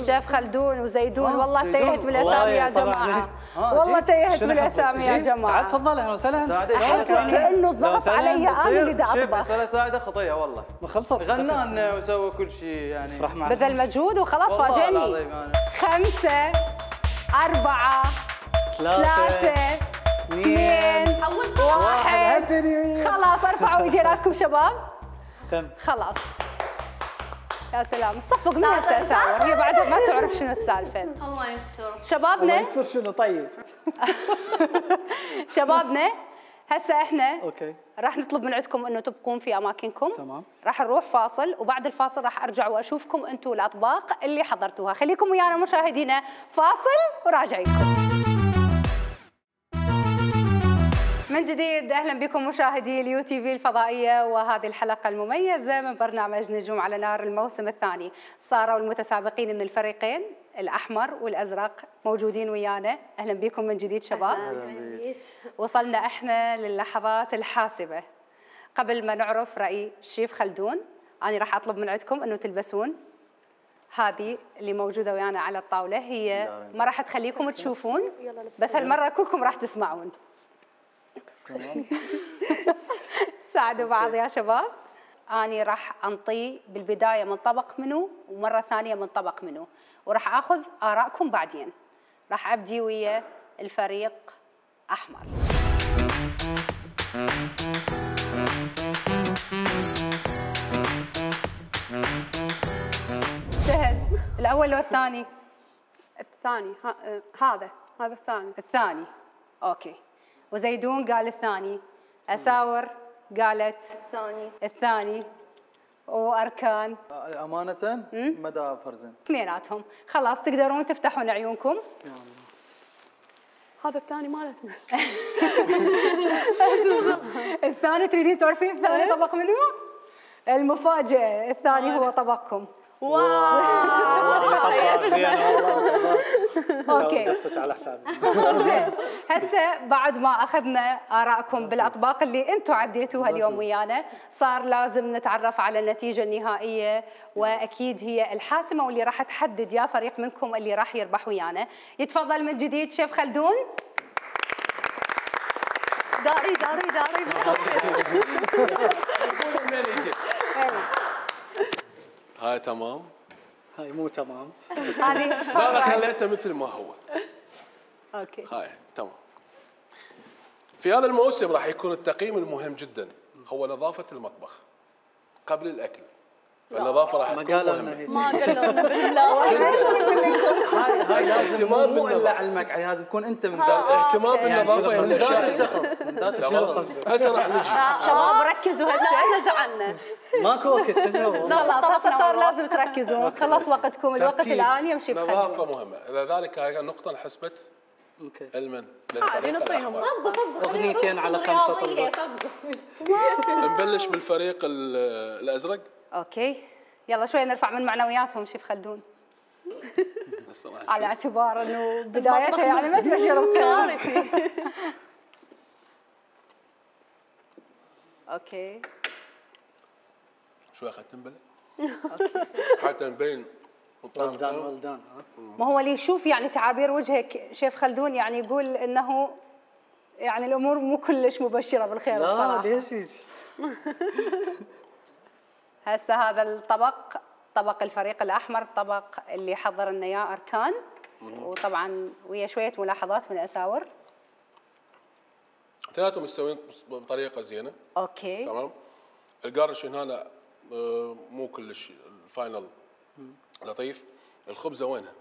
شيف خلدون وزيدون. آه، والله زيدون. تيهت بالاسامي يا والله طبعاً. جماعه. آه، والله جيت. تيهت شنو بالاسامي يا حبيت؟ تعال جماعه. تفضل اهلا وسهلا. ساعدك. احس ساعدك. كانه لو الضغط سلام علي انا بصير اللي دا شيف اطبخ. فيصل ساعده خطيه والله. ما خلصت. غنى لنا وسوى كل شيء يعني. افرح معنا. بذل مجهود وخلاص والله فاجئني. العظيم أنا. خمسة أربعة ثلاثة اثنين واحد. هابي نيو يير. خلاص ارفعوا ايديناتكم شباب. تم. خلاص يا سلام صفق من هسه اساور. هي بعد ما تعرف شنو السالفه. الله يستر. الله شبابنا يستر شنو طيب. شبابنا هسه احنا اوكي راح نطلب من عندكم انه تبقون في اماكنكم. تمام. راح نروح فاصل وبعد الفاصل راح ارجع واشوفكم انتم الاطباق اللي حضرتوها. خليكم ويانا مشاهدينا فاصل وراجعينكم. من جديد اهلا بكم مشاهدي اليو تي في الفضائيه وهذه الحلقه المميزه من برنامج نجوم على نار الموسم الثاني. صاروا المتسابقين من الفريقين الاحمر والازرق موجودين ويانا. اهلا بكم من جديد شباب. وصلنا احنا للحظات الحاسمه. قبل ما نعرف راي الشيف خلدون انا راح اطلب من عندكم انه تلبسون هذه اللي موجوده ويانا على الطاوله. هي ما راح تخليكم تشوفون بس هالمره كلكم راح تسمعون. ساعدوا بعض يا شباب. اني راح انطيه بالبدايه من طبق منو ومره ثانيه من طبق منو، وراح اخذ ارائكم بعدين. راح ابدي ويا الفريق احمر. شهد الاول لو الثاني؟ الثاني. ها آه، هذا هذا الثاني. الثاني. اوكي. وزيدون قال الثاني، اساور قالت الثاني. الثاني، واركان امانه مدى فرزن اثنيناتهم. خلاص تقدرون تفتحون عيونكم. هذا الثاني ما اسمه. الثاني تريدين تعرفين الثاني طبق منو؟ المفاجأة، الثاني هو طبقكم. اوكي قصك على حسابي. زين، هسه بعد ما اخذنا ارائكم بالاطباق اللي انتم عديتوها اليوم ويانا، صار لازم نتعرف على النتيجه النهائيه، واكيد هي الحاسمه واللي راح تحدد يا فريق منكم اللي راح يربح ويانا. يتفضل من جديد شيف خلدون. داري داري داري هاي تمام. هاي مو تمام. هذه لا لا خليته مثل ما هو. اوكي. هاي تمام. في هذا الموسم راح يكون التقييم المهم جدا هو نظافة المطبخ قبل الأكل. فالنظافة راح تكون مهمة. ما قالوا لنا بالله. هاي هاي لازم اهتمام مو الا بالنظافة. علمك عليه، لازم تكون انت من ذات اهتمام بالنظافة من من ذات الأشياء. الشخص من ذات تمام. الشخص. هسه راح نجي. شباب ركزوا لا هسه. احنا زعلنا. ماكو وقت شو اسوي؟ خلاص هسه صار لازم تركزون. خلص وقتكم، الوقت ترتيب. الان يمشي بخلدون. نظافة مهمة، لذلك هاي النقطة انحسبت اوكي. المن عادي للفريق نعطيهم. الأحمر. صفقوا صفقوا أغنيتين على خمسة رياضية، طلبات. صفقوا. نبلش بالفريق ال- الأزرق. اوكي، يلا شوي نرفع من معنوياتهم شيف خلدون، الصراحة على اعتبار انه بدايتها يعني ما تبشر بخير. اوكي شوي خلينا نبلش حتى نبين ولدان ولدان. ها ما هو اللي يشوف يعني تعابير وجهك شيف خلدون يعني يقول انه يعني الامور مو كلش مبشره بالخير لا بصراحه. ليش هيك؟ هسه هذا الطبق طبق الفريق الاحمر، طبق اللي حضر لنا اياه اركان، وطبعا ويا شويه ملاحظات من اساور. اثنيناتهم مستويين بطريقه زينه. اوكي تمام. القارش هنا آه، مو كلش الفاينل لطيف. الخبزه وينها؟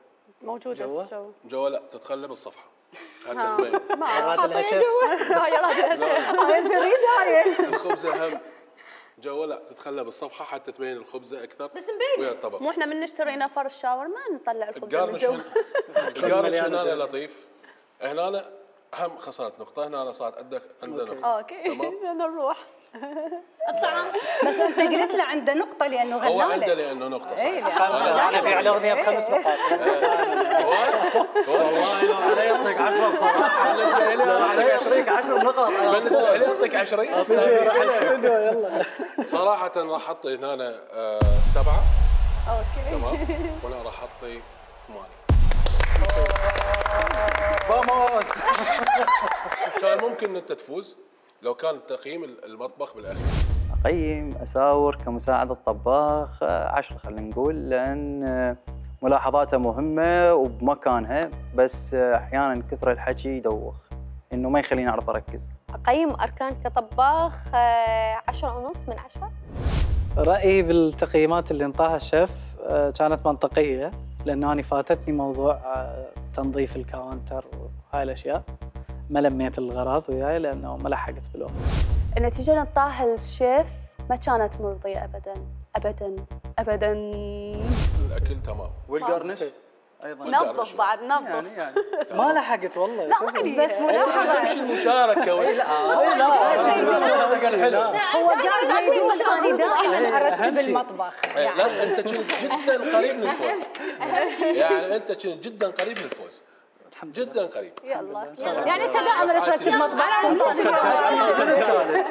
موجوده جوا؟ جوا. جوا لا تتخلى بالصفحه حتى تبين. ما راد لها شيف. هاي راد لها شيف. هاي البريد هاي. الخبزه هم جوا لا تتخلى بالصفحه حتى تبين الخبزه اكثر بس مبين. ويا الطبق. مو احنا من نشتري نفر الشاور ما نطلع الخبز من القارنش جوا. هن- القارنش مليانة هنا دهن. لطيف. هنا هم خسرت نقطه، هنا صارت عندك عنده نقطه. اوكي تمام. بدنا نروح. الطعام بس انت قلت له عنده نقطه لانه هو غنى عنده لك. لانه نقطه إيه، صحيح. خمسة. انا في على اغنيه بخمس نقاط. والله لو علي يعطيك عشرة بصراحه. بالنسبه لي انا اعطيك عشرين. عشر نقاط. بالنسبه لي اعطيك عشرين. الفيديو يلا. صراحه راح احطي هنا آه، سبعه. اوكي تمام. وانا راح احطي ثمانيه. فاموس. كان ممكن ان انت تفوز لو كان تقييم المطبخ بالاخير. اقيم اساور كمساعد الطباخ عشرة خلينا نقول، لان ملاحظاته مهمه وبمكانها، بس احيانا كثر الحكي يدوخ انه ما يخليني اعرف اركز. أقيم أركان كطباخ آه، عشرة ونص من عشرة. رأيي بالتقييمات اللي انطاها الشيف آه، كانت منطقية، لأنه أنا فاتتني موضوع آه، تنظيف الكاونتر وهاي الأشياء، ما لميت الغراض وياي لأنه ما لحقت بالوقت. النتيجة اللي انطاها الشيف ما كانت مرضية ابدا ابدا ابدا. الاكل تمام. والقرنش ايضا نظف بعد نظف. يعني يعني ما لحقت والله. لا شو أسوي؟ عليه. بس ملاحظه امشي المشاركه ولا لا؟ هو قال زيدون انا دائما ارتب المطبخ يعني. لا انت كنت جدا قريب من الفوز. يعني انت كنت جدا قريب من الفوز. جدا قريب. يلا يعني انت دائما ترتب مطبخ.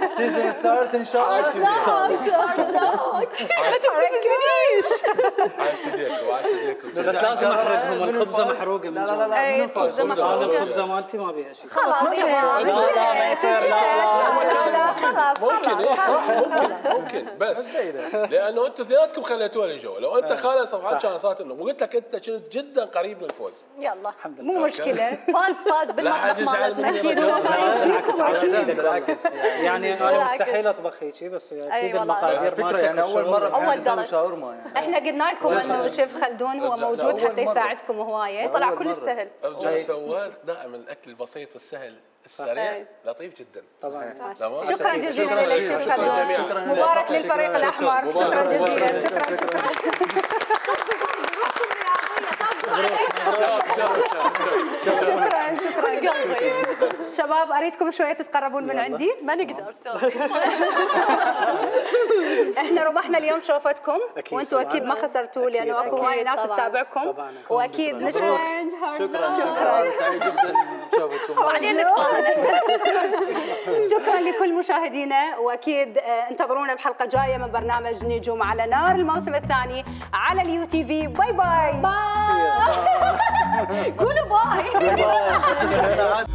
السيزون الثالث ان شاء الله. ما تستفزنيش. عاش يديك وعاش يديك. بس لازم احرقهم، الخبزه محروقه من جوا. لا لا أي، منو فاز؟ هذا الخبزه مالتي ما بيها شيء. خلاص لا لا ما يصير، لا لا لا خلاص ممكن إيه صح ممكن ممكن بس لانه انتم اثنيناتكم خليتوها لي جو. لو انت خالد صفحات كان صارت انه وقلت لك انت كنت جدا قريب من الفوز. يلا الحمد لله. مو مشكله، فاز فاز لا حد بالمطبخ يزعل مالتنا مني اكيد أبداً. هو فايز بالعكس فيكم عشان أكيد. بالعكس يعني انا بالعكس. مستحيل اطبخ هيك بس أي اكيد والله. المقادير فكره مالتك يعني اول مره أول بحياتي اسوي درس. شاورما يعني. احنا قلنا لكم انه شيف خلدون هو رجع موجود أول حتى مرة. يساعدكم هوايه. طلع أول كل مرة. سهل. ارجع سوالك دائما الاكل البسيط السهل السريع صحيح. لطيف جدا. طبعا. تمام. شكرا جزيلا لك شيف شكرا خلدون. جميعا. مبارك للفريق الاحمر. شكرا جزيلا. شكرا شكرا. شكرا شكرا شباب، اريدكم شويه تتقربون من عندي. ما نقدر سوري. احنا ربحنا اليوم شوفتكم أكيد وانتم طبعاً. اكيد ما خسرتوا لانه أكيد. اكو هواي ناس طبعاً. تتابعكم طبعاً. واكيد نشكر شكرا شكرا سعيد جدا بشوفتكم. بعدين نتفاهم. شكرا لكل مشاهدينا واكيد آه، انتظرونا بحلقه جايه من برنامج نجوم على نار الموسم الثاني على اليو تي في. باي باي باي. قولوا باي. باي.